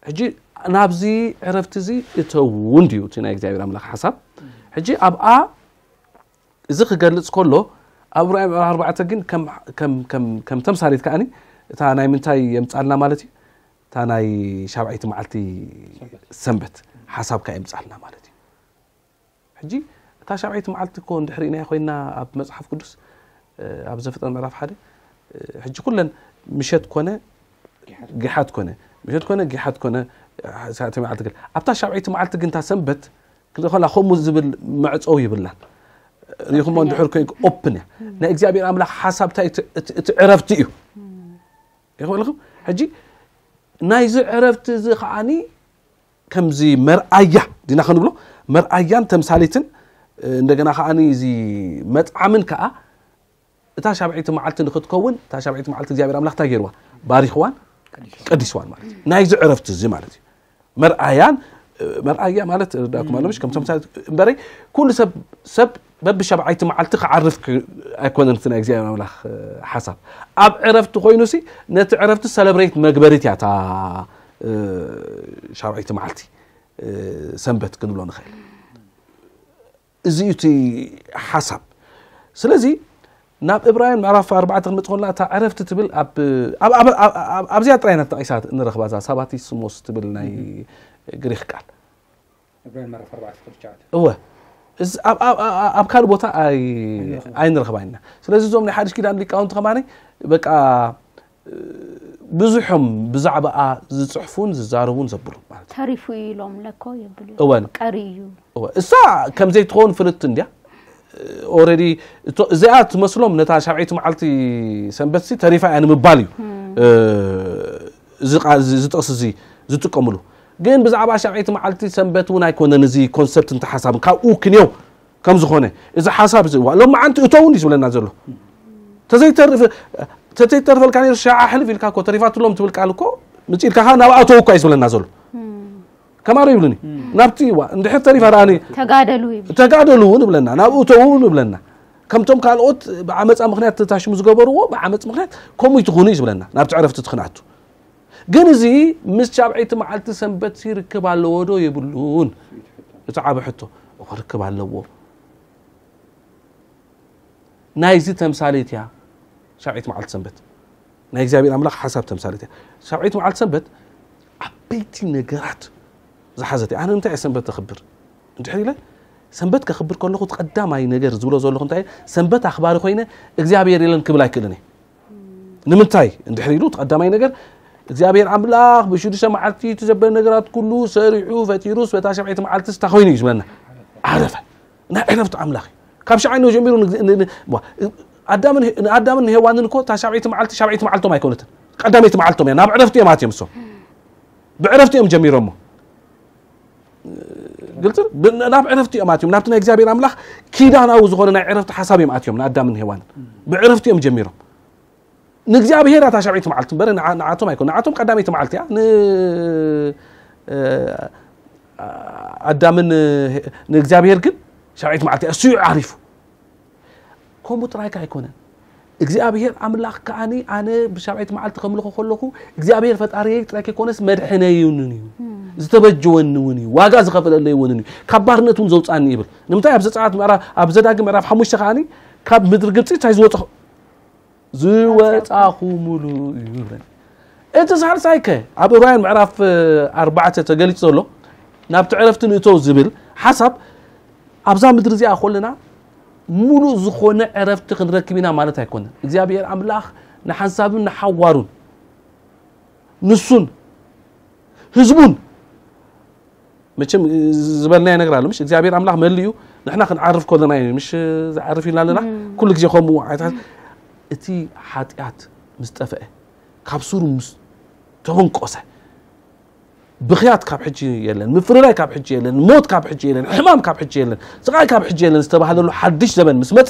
ሕጂ ናብዚ ዕረፍቲ እዚ እተዉ እንድዩ እቲ ናይ እግዚኣብሔር ኣምላኽ ሓሳብ። ሕጂ ኣብኣ እዚ ክገልጽ ከሎ ኣብ ራእይ ኣርባዕተ ግን ከም ተምሳሌት ከዓኒ እታ ናይ ምንታይ የምጻልና ማለት እዩ? እታ ናይ ሻብዓይቲ መዓልቲ ሰንበት ሓሳብካ የምጻልና ማለት እዩ። ሕጂ እታ ሻብዓይቲ መዓልቲ እኮ እንድሕር ኢናያ ኮይና ኣብ መጽሓፍ ቅዱስ ኣብ ዘፍጥረት ምዕራፍ ሓደ ሕጂ ኩለን ምሸት ኮነ ጊሓት ኮነ ምሸት ኮነ ጊሓት ኮነ ሰዓተ መዓልቲ ገለ ኣብታ ሻብዓይቲ መዓልቲ ግን እታ ሰንበት ክልኸላ ከምኡ ዝብል መዕፀዊ ይብላን። ሪኹሞ እንድሕር ኮይንኩ ኦፕን እያ ናይ እግዚኣብሔር ኣምላኽ ሓሳብ እንታይ እቲ ዕረፍቲ እዩ። ይኽበልኹም ሕጂ ናይዚ ዕረፍቲ እዚ ከዓኒ ከምዚ መርኣያ ዲና ክንብሎ መርኣያን ተምሳሌትን እንደገና ከዓኒ እዚ መጥዓምን ከዓ እታ ሻብዐይቲ መዓልቲ ንክትከውን እታ ሻብዐይቲ መዓልቲ እግዚኣብሔር ኣምላኽ እንታይ ገይርዋ ባሪኽዋን ቀዲስዋን ማለት እዩ ናይዚ ዕረፍቲ እዚ ማለት እዩ። መርኣያን መርኣያ ማለት ርዳእኩም ኣሎ ምሽ ከም ተምሳሌት እምበረይ ኩሉ ሰብ ሰብ በብሻብዓይቲ መዓልቲ ክዓርፍ ኣይኮነን እቲ ናይ እግዚኣብሔር ኣምላኽ ሓሳብ ኣብ ዕረፍቲ ኮይኑ ሲ ነቲ ዕረፍቲ ሰለብሬት መግበሪት እያ እታ ሻብዓይቲ መዓልቲ ሰንበት ክንብሎ ንኽእል። እዚ እዩ እቲ ሓሳብ። ስለዚ ናብ እብራውያን ምዕራፍ ኣርባዕተ ክንመጽእ ከለና እታ ዕረፍቲ ትብል ኣብዚኣ ጥራይ ኢና ተጠቒሳ ንረኽባ እዛ ሳባቲስሞስ ትብል ናይ ግሪክ ቃል። እብራውያን ምዕራፍ ኣርባዕተ ቁጥሪ ትሽዓተ። እወ ኣብ ካልእ ቦታ ኣይንረኽባን ኢና። ስለዚ እዞም ናይ ሓድሽ ኪዳን ሊቃውንቲ ከማኒ በቃ ብዙሖም ብዛዕባኣ ዝፅሕፉን ዝዛረቡን ዘብሉ ማለት እዩ። ተሪፉ እዩ ኢሎም ለኮ የብሉ እወን። ቀሪ እዩ። እወ፣ እሳ ከም ዘይትኸውን ፍልጥቲ እንድያ። ኦረዲ እዚኣ ትመስሎም ነታ ሻብዐይቲ መዓልቲ ሰንበት ሲ ተሪፋ እያ ንምባል እዩ እዚ ጥቕሲ እዚ ዝጥቀምሉ። ግን ብዛዕባ ሻብዐይቲ መዓልቲ ሰንበት እውን ኣይኮነን እዚ ኮንሰፕት እንተ ሓሳብን ካብኡ ክንዮ ከም ዝኾነ እዚ ሓሳብ እዚ እዋ ሎም መዓንቲ እተውን እዩ ዝብለና ዘሎ። ተዘይተርፍ ተዘይተርፈልካ ነይሩ ሻዓ ሕልፍ ኢልካ እኮ ተሪፋትሎም ትብል ቃል እኮ ምጽኢልካ ከኣ ናብ ኣተው እኳ እዩ ዝብለና ዘሎ። ከማሮ ይብሉኒ ናብቲ እዋ እንድሕር ተሪፋ ረኣኒ ተጋደሉ ይብል። ተጋደሉ እውን ይብለና ናብኡ እተው እውን ይብለና። ከምቶም ካልኦት ብዓመፃ ምክንያት ተታሽሙ ዝገበርዎ ብዓመፅ ምክንያት ከምኡ ይትኾኑ እዩ ዝብለና ናብቲ ዕረፍቲ ትክንኣቱ። ግን እዚ ምስ ሻብዐይቲ መዓልቲ ሰንበት ሲ ርክብ ኣለዎ ዶ የብሉን? እቲ ዓቢ ሕቶ እኮ ርክብ ኣለዎ። ናይዚ ተምሳሌት እያ ሻብዐይቲ መዓልቲ ሰንበት ናይ እግዚኣብሔር ኣምላኽ ሓሳብ ተምሳሌት እያ። ሻብዐይቲ መዓልቲ ሰንበት ዓበይቲ ነገራት ዝሓዘት እያ። ኣነ እንታይ እየ ሰንበት ተኽብር እንድሕር ኢለ ሰንበት ከኽብር ከለኹ እቲ ቀዳማይ ነገር ዝብሎ ዘለኹ እንታይ እየ? ሰንበት ኣኽባሪ ኮይነ እግዚኣብሔር የለን ክብል ኣይክእልን እየ። ንምንታይ እንድሕር ኢሉ እቲ ቀዳማይ ነገር እግዚኣብሔር ኣምላኽ ብሽዱሽተ መዓልቲ እቲ ዘበለ ነገራት ኩሉ ሰሪሑ ፈጢሩስ በታ ሻብዐይቲ መዓልቲ ስታ ኮይኑ እዩ ዝብለና ዓረፈ። ናይ ዕረፍቲ ኣምላኽ እዩ። ካብ ሻዓይ ነው ጀሚሩ ንኣዳምን ንሄዋንን እኮ እታ ሻብዐይቲ መዓልቲ ሻብዐይቲ መዓልቶም ኣይኮነትን ቀዳመይቲ መዓልቶም እያ ናብ ዕረፍቲ እዮም ኣትዮም እሶም ብዕረፍቲ እዮም ጀሚሮሞ ግልጽ ናብ ዕረፍቲ እዮም ኣትዮም ናብቲ ናይ እግዚኣብሔር ኣምላኽ ኪዳናዊ ዝኾነ ናይ ዕረፍቲ ሓሳብ እዮም ኣትዮም ንኣዳምን ሄዋንን ብዕረፍቲ እዮም ጀሚሮም። ንእግዚኣብሔር እታ ሻብዐይቲ መዓልቲ እምበር ንዓቶም ኣይኮነ ንዓቶም ቀዳመይቲ መዓልቲ እያ። ኣዳምን ንእግዚኣብሔር ግን ሻብዐይቲ መዓልቲ እያ እሱ እዩ ዓሪፉ። ከምኡ ጥራይካ ኣይኮነን እግዚኣብሔር ኣምላኽ ከኣኒ ኣነ ብሻብዓይቲ መዓልቲ ከምልኾ ከለኹ እግዚኣብሔር ፈጣሪየይ ጥራይ ከይኮነስ መድሕነይን እዩ፣ ዝተበጀወኒ እውን እዩ፣ ዋጋ ዝኸፈለለይ እውን እዩ፣ ካብ ባርነት እውን ዘውፃኒ ይብል። ንምንታይ ኣብ ዘፀኣት ምዕራፍ ኣብ ዘዳግም ምዕራፍ ሓሙሽተ ከኣኒ ካብ ምድሪ ግብፂ እንታይ ዝወፅኹ ዝወፃኹ ሙሉ እዩ ይብለኒ። እቲ ሳልሳይ ከ ኣብ ዕብራውያን ምዕራፍ ኣርባዕተ ተገሊፁ ዘሎ ናብቲ ዕረፍቲ ንእተው ዝብል ሓሳብ ኣብዛ ምድሪ እዚኣ ኮለና ሙሉእ ዝኾነ ዕረፍቲ ክንረክብ ኢና ማለት ኣይኮነን። እግዚኣብሔር ኣምላኽ ንሓንሳብን ንሓዋሩን ንሱን ህዝቡን መቸም ዝበልናዮ ነገር ኣሎ ምሽ እግዚኣብሔር ኣምላኽ መሊኡ ንሕና ክንዓርፍ ከለና እዩ ምሽ ዝዓርፍ ኢልና ኣለና። ኩሉ ግዜ ከምኡ ዓይነት እቲ ሓጢኣት ምስ ጠፍአ ካብ ሱሩ ምስ ተበንቆሰ ብኽያት ካብ ሕጂ የለን፣ ምፍርራይ ካብ ሕጂ የለን፣ ሞት ካብ ሕጂ የለን፣ ሕማም ካብ ሕጂ የለን፣ ስቓይ ካብ ሕጂ የለን ዝተባህለሉ ሓድሽ ዘመን ምስ መጸ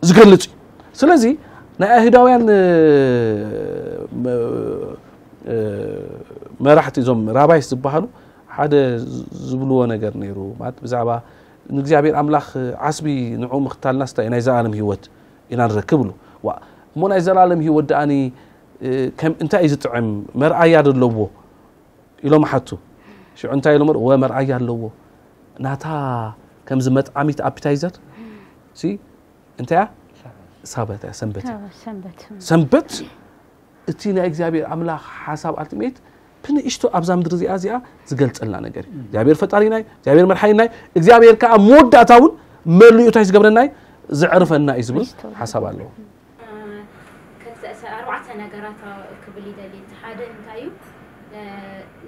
ዝገልጽ እዩ። ስለዚ ናይ ኣይሁዳውያን መራሕቲ እዞም ራባይስ ዝበሃሉ ሓደ ዝብልዎ ነገር ነይሩ ማለት ብዛዕባ ንእግዚኣብሔር ኣምላኽ ዓስቢ ንዕኡ ምኽታልናስ እንታይ ናይ ዘላለም ህይወት ኢና ንረክብ ብሉ። ዋ እሞ ናይ ዘላለም ህይወት ደኣኒ እንታይ እዩ ዝጥዕም መርኣያ ዶ ኣለዎ ኢሎም ሓቱ። ሽዑ እንታይ ኢሎም ወ መርኣያ ኣለዎ ናታ ከምዚ መጥዓሚት ኣፒታይዘር ሲ እንታይ እያ ሳበት እያ ሰንበት እያ። ሰንበት ሰንበት እቲ ናይ እግዚኣብሔር ኣምላኽ ሓሳብ ኣልቲሜት ብንእሽቶ ኣብዛ ምድሪ እዚኣ እዚኣ ዝገልጸልና ነገር እዩ እግዚኣብሔር ፈጣሪናይ እግዚኣብሔር መድሓይናይ እግዚኣብሔር ከዓ መወዳእታ እውን መሊኡ እንታይ ዝገብረናይ ዘዕርፈና እዩ ዝብል ሓሳብ ኣለዎ። ክልተ ኣርባዕተ ነገራት ክብል ይደሊ እቲ ሓደ እንታይ እዩ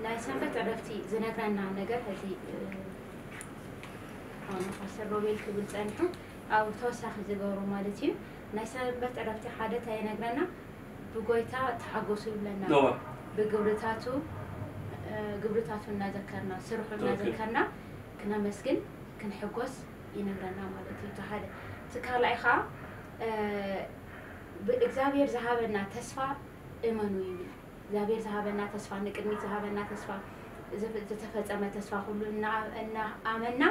ናይ ሰንበት ዕረፍቲ ዝነግረና ነገር ሕዚ ፓስተር ሮቤል ክብል ፀኒሑ ኣብ ተወሳኺ ዝገብሮ ማለት እዩ ናይ ሰንበት ዕረፍቲ ሓደ እንታይ ይነግረና ብጎይታ ተሓጎሱ ይብለና ብግብርታቱ ግብርታቱ እናዘከርና ስርሑ እናዘከርና ክነመስግን ክንሕጎስ ይነግረና ማለት እዩ እቲ ሓደ እቲ ካልኣይ ከዓ እግዚኣብሔር ዝሃበና ተስፋ እመኑ ይብል እግዚኣብሔር ዝሃበና ተስፋ ንቅድሚት ዝሃበና ተስፋ ዝተፈፀመ ተስፋ ኩሉ እናኣመና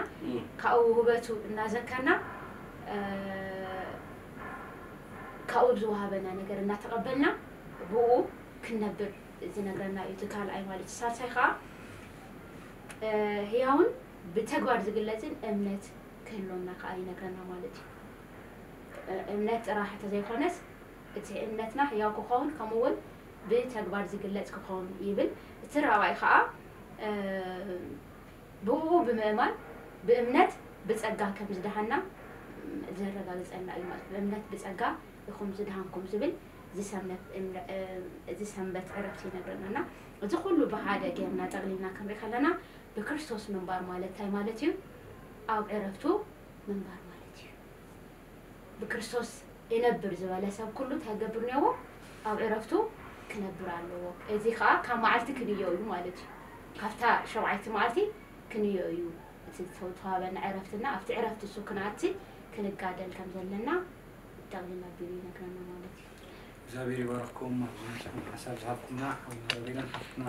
ካብኡ ውህበቱ እናዘከርና ካብኡ ዝወሃበና ነገር እናተቐበልና ብኡ ክንነብር ዝነግረና እዩ እቲ ካልኣይ ማለት እዩ ሳልሳይ ከዓ ህያውን ብተግባር ዝግለፅን እምነት ክህልወና ከዓ ይነግረና ማለት እዩ እምነት ጥራሕ ተዘይኮነስ እቲ እምነትና ህያው ክኸውን ከምኡ እውን ብተግባር ዝግለፅ ክኸውን ይብል እቲ ራብኣይ ከዓ ብኡ ብምእማን ብእምነት ብፀጋ ከም ዝደሃና ዘረጋግፀና እዩ ማለት ብእምነት ብፀጋ ኢኹም ዝደሃንኩም ዝብል ዝሰንበት ዕረፍቲ ይነግረና እና እዚ ኩሉ ብሓደ ጌርና ጠቕሊልና ክንርኢ ከለና ብክርስቶስ ምንባር ማለት እንታይ ማለት እዩ ኣብ ዕረፍቱ ምንባር ማለት እዩ ብክርስቶስ እነብር ዝበለ ሰብ ኩሉ እንታይ ክገብር እኒኦዎ ኣብ ዕረፍቱ ክነብር ኣለዎ እዚ ከዓ ካብ መዓልቲ ክንዮ እዩ ማለት እዩ ካብታ ሸውዓይቲ መዓልቲ ክንዮ እዩ እቲ ዝተዋበና ዕረፍትና ኣብቲ ዕረፍቲ እሱ ክንኣቲ ክንጋደል ከም ዘለና ጠቕሊል ኣቢሉ ይነግረና ማለት እዩ እግዚኣብሔር ይባርክኩም ኣብዚ ሓሳብ ዝሃብኩምና ሓውና ሮቤልን ሓፍትና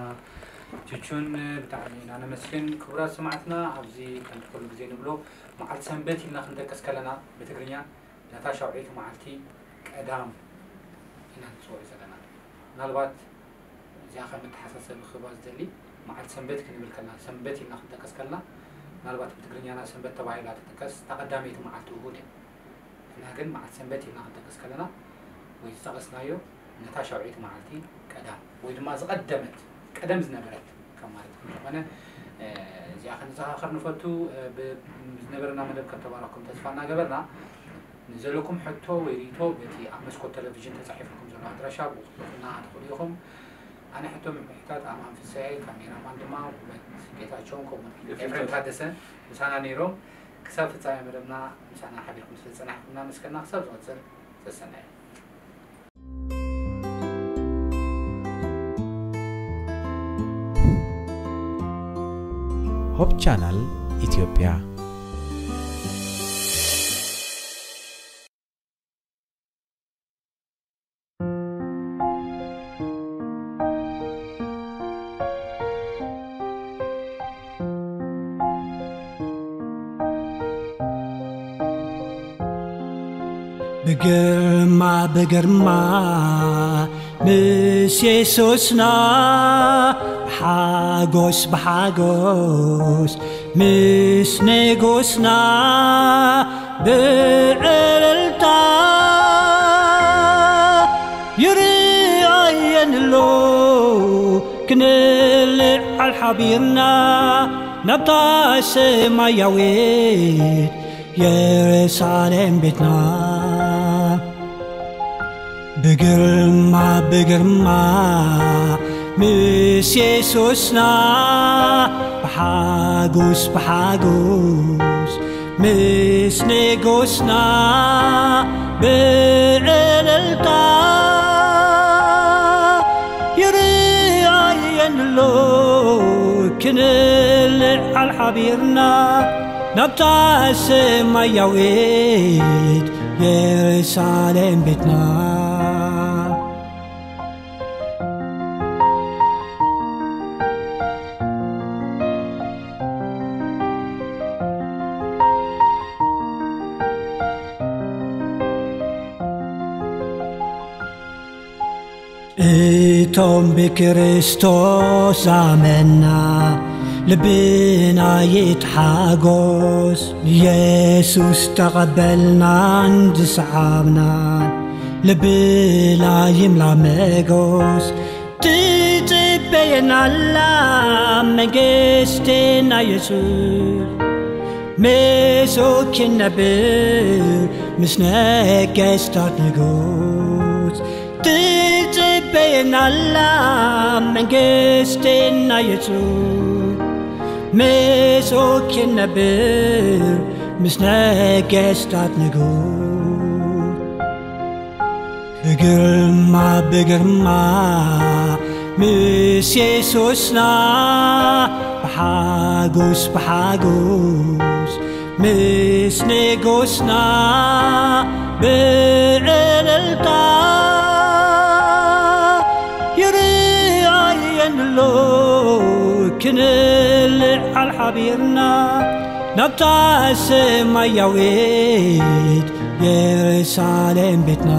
ቹቹን ብጣዕሚ ኢና ነመስግን ክቡራት ሰማዕትና ኣብዚ ከምቲ ኩሉ ግዜ ንብሎ መዓልቲ ሰንበት ኢልና ክንጠቅስ ከለና ብትግርኛ ነታ ሻውዒት መዓልቲ ቀዳም ኢና ንፅውዕ ዘለና ምናልባት እዚኣ ከም መተሓሳሰቢ ክህባ ዝደሊ መዓልቲ ሰንበት ክንብል ከለና ሰንበት ኢልና ክንጠቅስ ከለና ምናልባት ብትግርኛና ሰንበት ተባሂላ ትጥቀስ እታ ቀዳመይቲ መዓልቲ እሁድ እያ ንሕና ግን መዓልቲ ሰንበት ኢልና ክንጠቅስ ከለና ወይ ዝጠቐስናዮ ነታ ሻውዒት መዓልቲ ቀዳም ወይ ድማ ዝቐደመት ቀደም ዝነበረት ከም ማለት ከም ዝኾነ እዚኣ ክንዘኻኸር ንፈቱ ዝነበረና መደብ ከም ተባረኽኩም ተስፋ እናገበርና ንዘለኩም ሕቶ ወይ ሪኢቶ በቲ ኣብ መስኮት ቴሌቪዥን ተፃሒፍልኩም ዘሎ ኣድራሻ ብውሕልና ትኽእሉ ኢኹም ኣነ ሕቶ ምሕታት ኣማን ፍሳኤ ካሜራማን ድማ ውበት ጌታቸውን ከምኡ ኤፍሬም ታደሰ ምሳና ነይሮም ክሳብ ፍፃሜ መደብና ምሳና ሓቢርኩም ስለዝፀናሕኩም እናመስገና ክሳብ ዝቐፅል ሰሰናዩ ሆፕ ቻናል ኢትዮጵያ ብግርማ ብግርማ ምስ የሱስና፣ ብሓጎስ ብሓጎስ ምስ ንጉስና፣ ብእልልታ ይርኣየን ኣሎ። ክንልዓል ሓቢርና ናብታ ሰማያዊት የሩሳሌም ቤትና። ብግርማ ብግርማ ምስ የሱስና፣ ብሓጎስ ብሓጎስ ምስ ንጉስና፣ ብእልልታ ይርኣየን ኣሎ። ክንልዓል ሓቢርና ናብታ ሰማያዊት የሩሳሌም ቤትና። እቶም ብክርስቶስ ዛመና፣ ልብና ይትሓጎስ። ንየሱስ ተቐበልናን ዝሰዓብናን፣ ልብና ይምላ መጎስ። ትጽበየና ኣላ መንግስትና የሱስ፣ ምስኡ ክንነብር ምስ ነገስታት ንጉስ። ትጽበየና ኣላ መንግስትና የሱስ፣ ምስኡ ክንነብር ምስ ነገስታት ንጉስ። ብግርማ ብግርማ ምስ የሱስና፣ ብሓጎስ ብሓጎስ ምስ ንጉስና፣ ብእልልታ ይርኣየን ኣሎ። ክንልዓል ሓቢርና ናብታ ሰማያዊት የሩሳሌም ቤትና።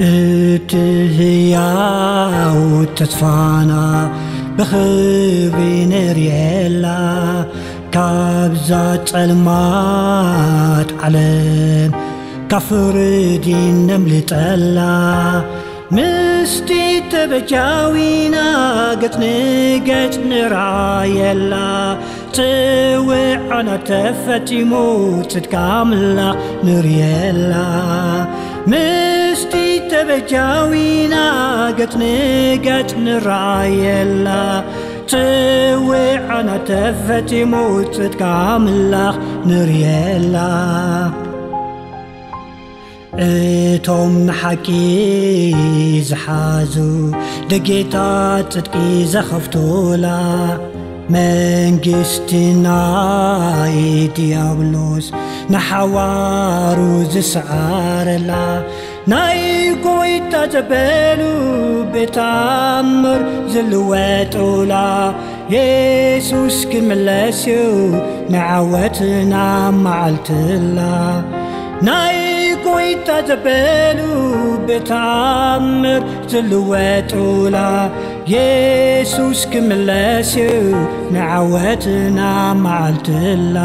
እቲ ህያው ተስፋና ብኽብሪ ንርእየላ፣ ካብዛ ጸልማት ዓለም ካብ ፍርዲ ነምልጠላ። ምስቲ ተበጃዊና ገጽ ንገጽ ንርኣየላ፣ ጽውዓና ተፈጺሙ ጽድቂ ኣምላኽ ንርእየላ። ምስቲ ተበጃዊና ገጽ ንገጽ ንርኣየላ፣ ጽውዓና ተፈጺሙ ጽድቂ ኣምላኽ ንርእየላ። እቶም ንሓቂ ዝሓዙ፣ ደጌታት ጽድቂ ዘኸፍቱላ፣ መንግስቲ ናይ ዲያብሎስ ንሓዋሩ ዝሰዓረላ፣ ናይ ጎይታ ዘበሉ ብተኣምር ዝልወጡላ፣ የሱስ ክምለስ እዩ ንዓወትና መዓልትላ። ናይ ጎይታ ዘበሉ ብተኣምር ዝልወጡላ፣ የሱስ ክምለስ እዩ ንዓወትና መዓልትላ።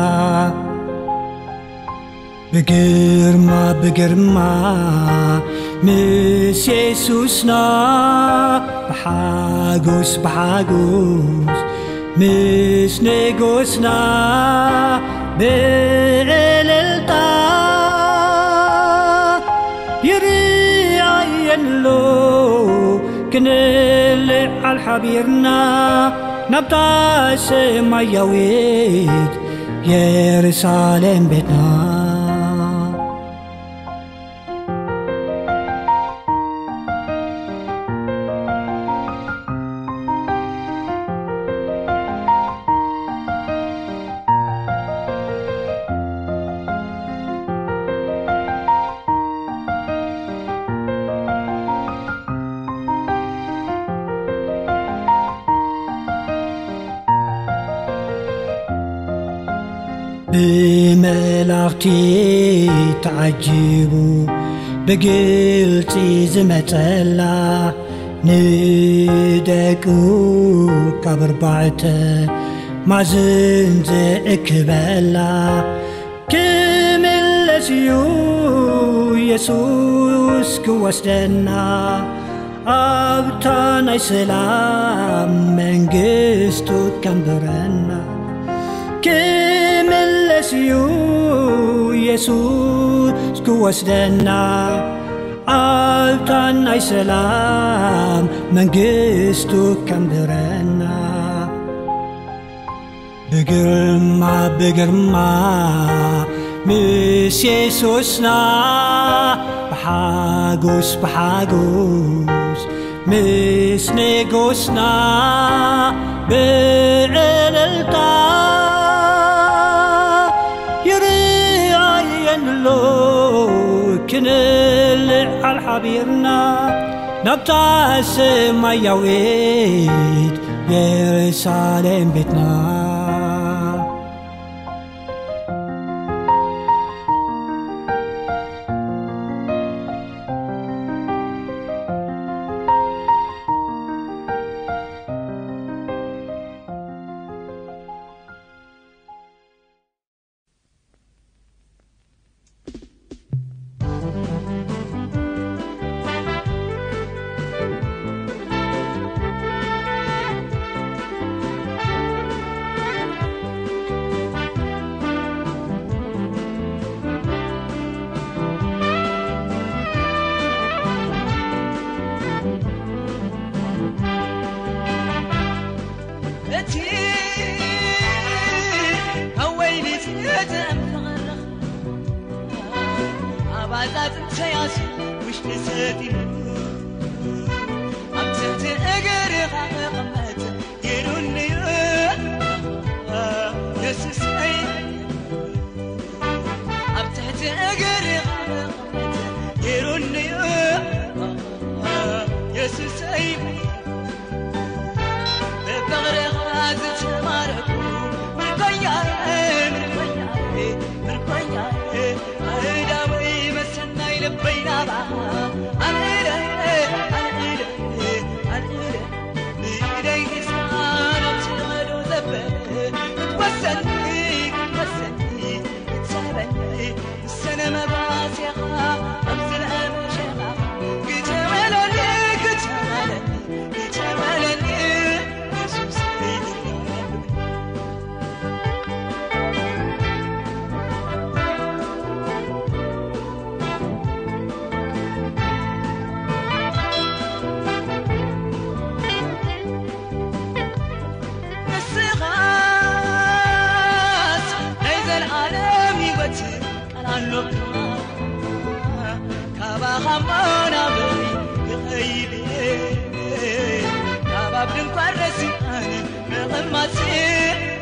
ብግርማ ብግርማ ምስ የሱስና፣ ብሓጎስ ብሓጎስ ምስ ንጉስና፣ ብእልልታ ይርኣየን ኣሎ። ክንልዓል ሓቢርና ናብታ ሰማያዊት የሩሳሌም ቤትና። እቲ ተዓጂቡ ብግልጺ ዝመጸላ፣ ንደቁ ካብ ኣርባዕተ ማዝን ዘእክበላ፣ ክምለስ እዩ የሱስ ክወስደና፣ ኣብታ ናይ ሰላም መንግስቱ ከንብረና። ክምለስ እዩ የሱስ ክወስደና፣ ኣብታ ናይ ሰላም መንግስቱ ከንብረና። ብግርማ ብግርማ ምስ የሱስና፣ ብሓጎስ ብሓጎስ ምስ ንጉስና፣ ብእልልታ ይርኣየን ኣሎ፣ ክንልዓል ሓቢርና ናብታ ሰማያዊት የሩሳሌም ቤትና። እቲ ካብ ወይኒ ዝተመረኸ፣ ኣብ ኣጻጽም ሰያሲ ውሽጢ ሰጢሙ፣ ኣብ ትሕቲ እግርኻ ክቕመጥ ገይሩኒ እዩ የሱሰይ። ኣብ ትሕቲ እግርኻ ክቕመጥ ገይሩኒ እዩ የሱሰይ። ብፍቕርኻ ዝተማረኹ ምርኮኛየ፣ ምርኮኛየ፣ ምርኮኛየ፣ ኣእዳወይ መሰናይ ልበይ ናባኻ ኣልዒለ፣ ኣልዒለ፣ ኣልዒለ፣ ብኢደይ ሒዝካ ናብቲ ቐዶ ዘበለ ክትወስደኒ፣ ክትወስደኒ፣ ክትስሕበኒ፣ ሰነ መጓስያኻ ኣብ ዝልኣም ሸኻ ግተመለኒ፣ ግተመለኒ፣ ግተመለኒ የሱስ። ንስኻስ ናይ ዘልኣለም ህይወት ቃል ኣሎካ። ካባኻ እሞ ናበይ ክኸይድ እየ? ካብ ኣብ ድንኳን ረሲዓን ምቕማጥ እየ።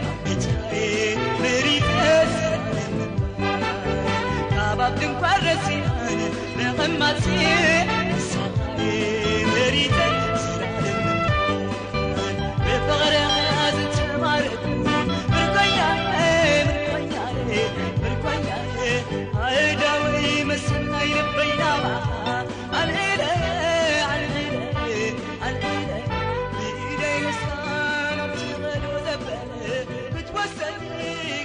ኣብ ቤትካ'የ መሪጸ ዘላለም ምንባር። ካብ ኣብ ድንኳን ረሲዓን ምቕማጥ እየ። ንስኻ'የ መሪጸ ዘላለም ምንባር። ብፍቕርኻ ዝተማረኹ ምርኮኛየ፣ ምርኮኛየ፣ ምርኮኛየ፣ ኣእዳወይ መሰናይ ልበይ ናባኻ ኣልዒለ፣ ኣልዒለ፣ ኣልዒለ፣ ብኢደይ ሒዝካ ናብቲ ቐዶ ዘበለ ክትወስደኒ፣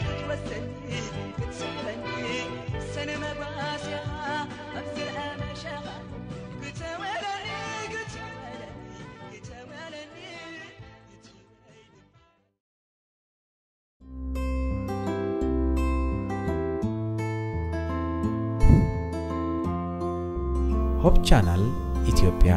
ክትወስደኒ፣ ክትስሕበኒ፣ ሰነ መጓስያኻ ኣብ ዝልኣም ሸኻ ግተመለኒ፣ ግተመለኒ። ሆፕ ቻናል ኢትዮጵያ።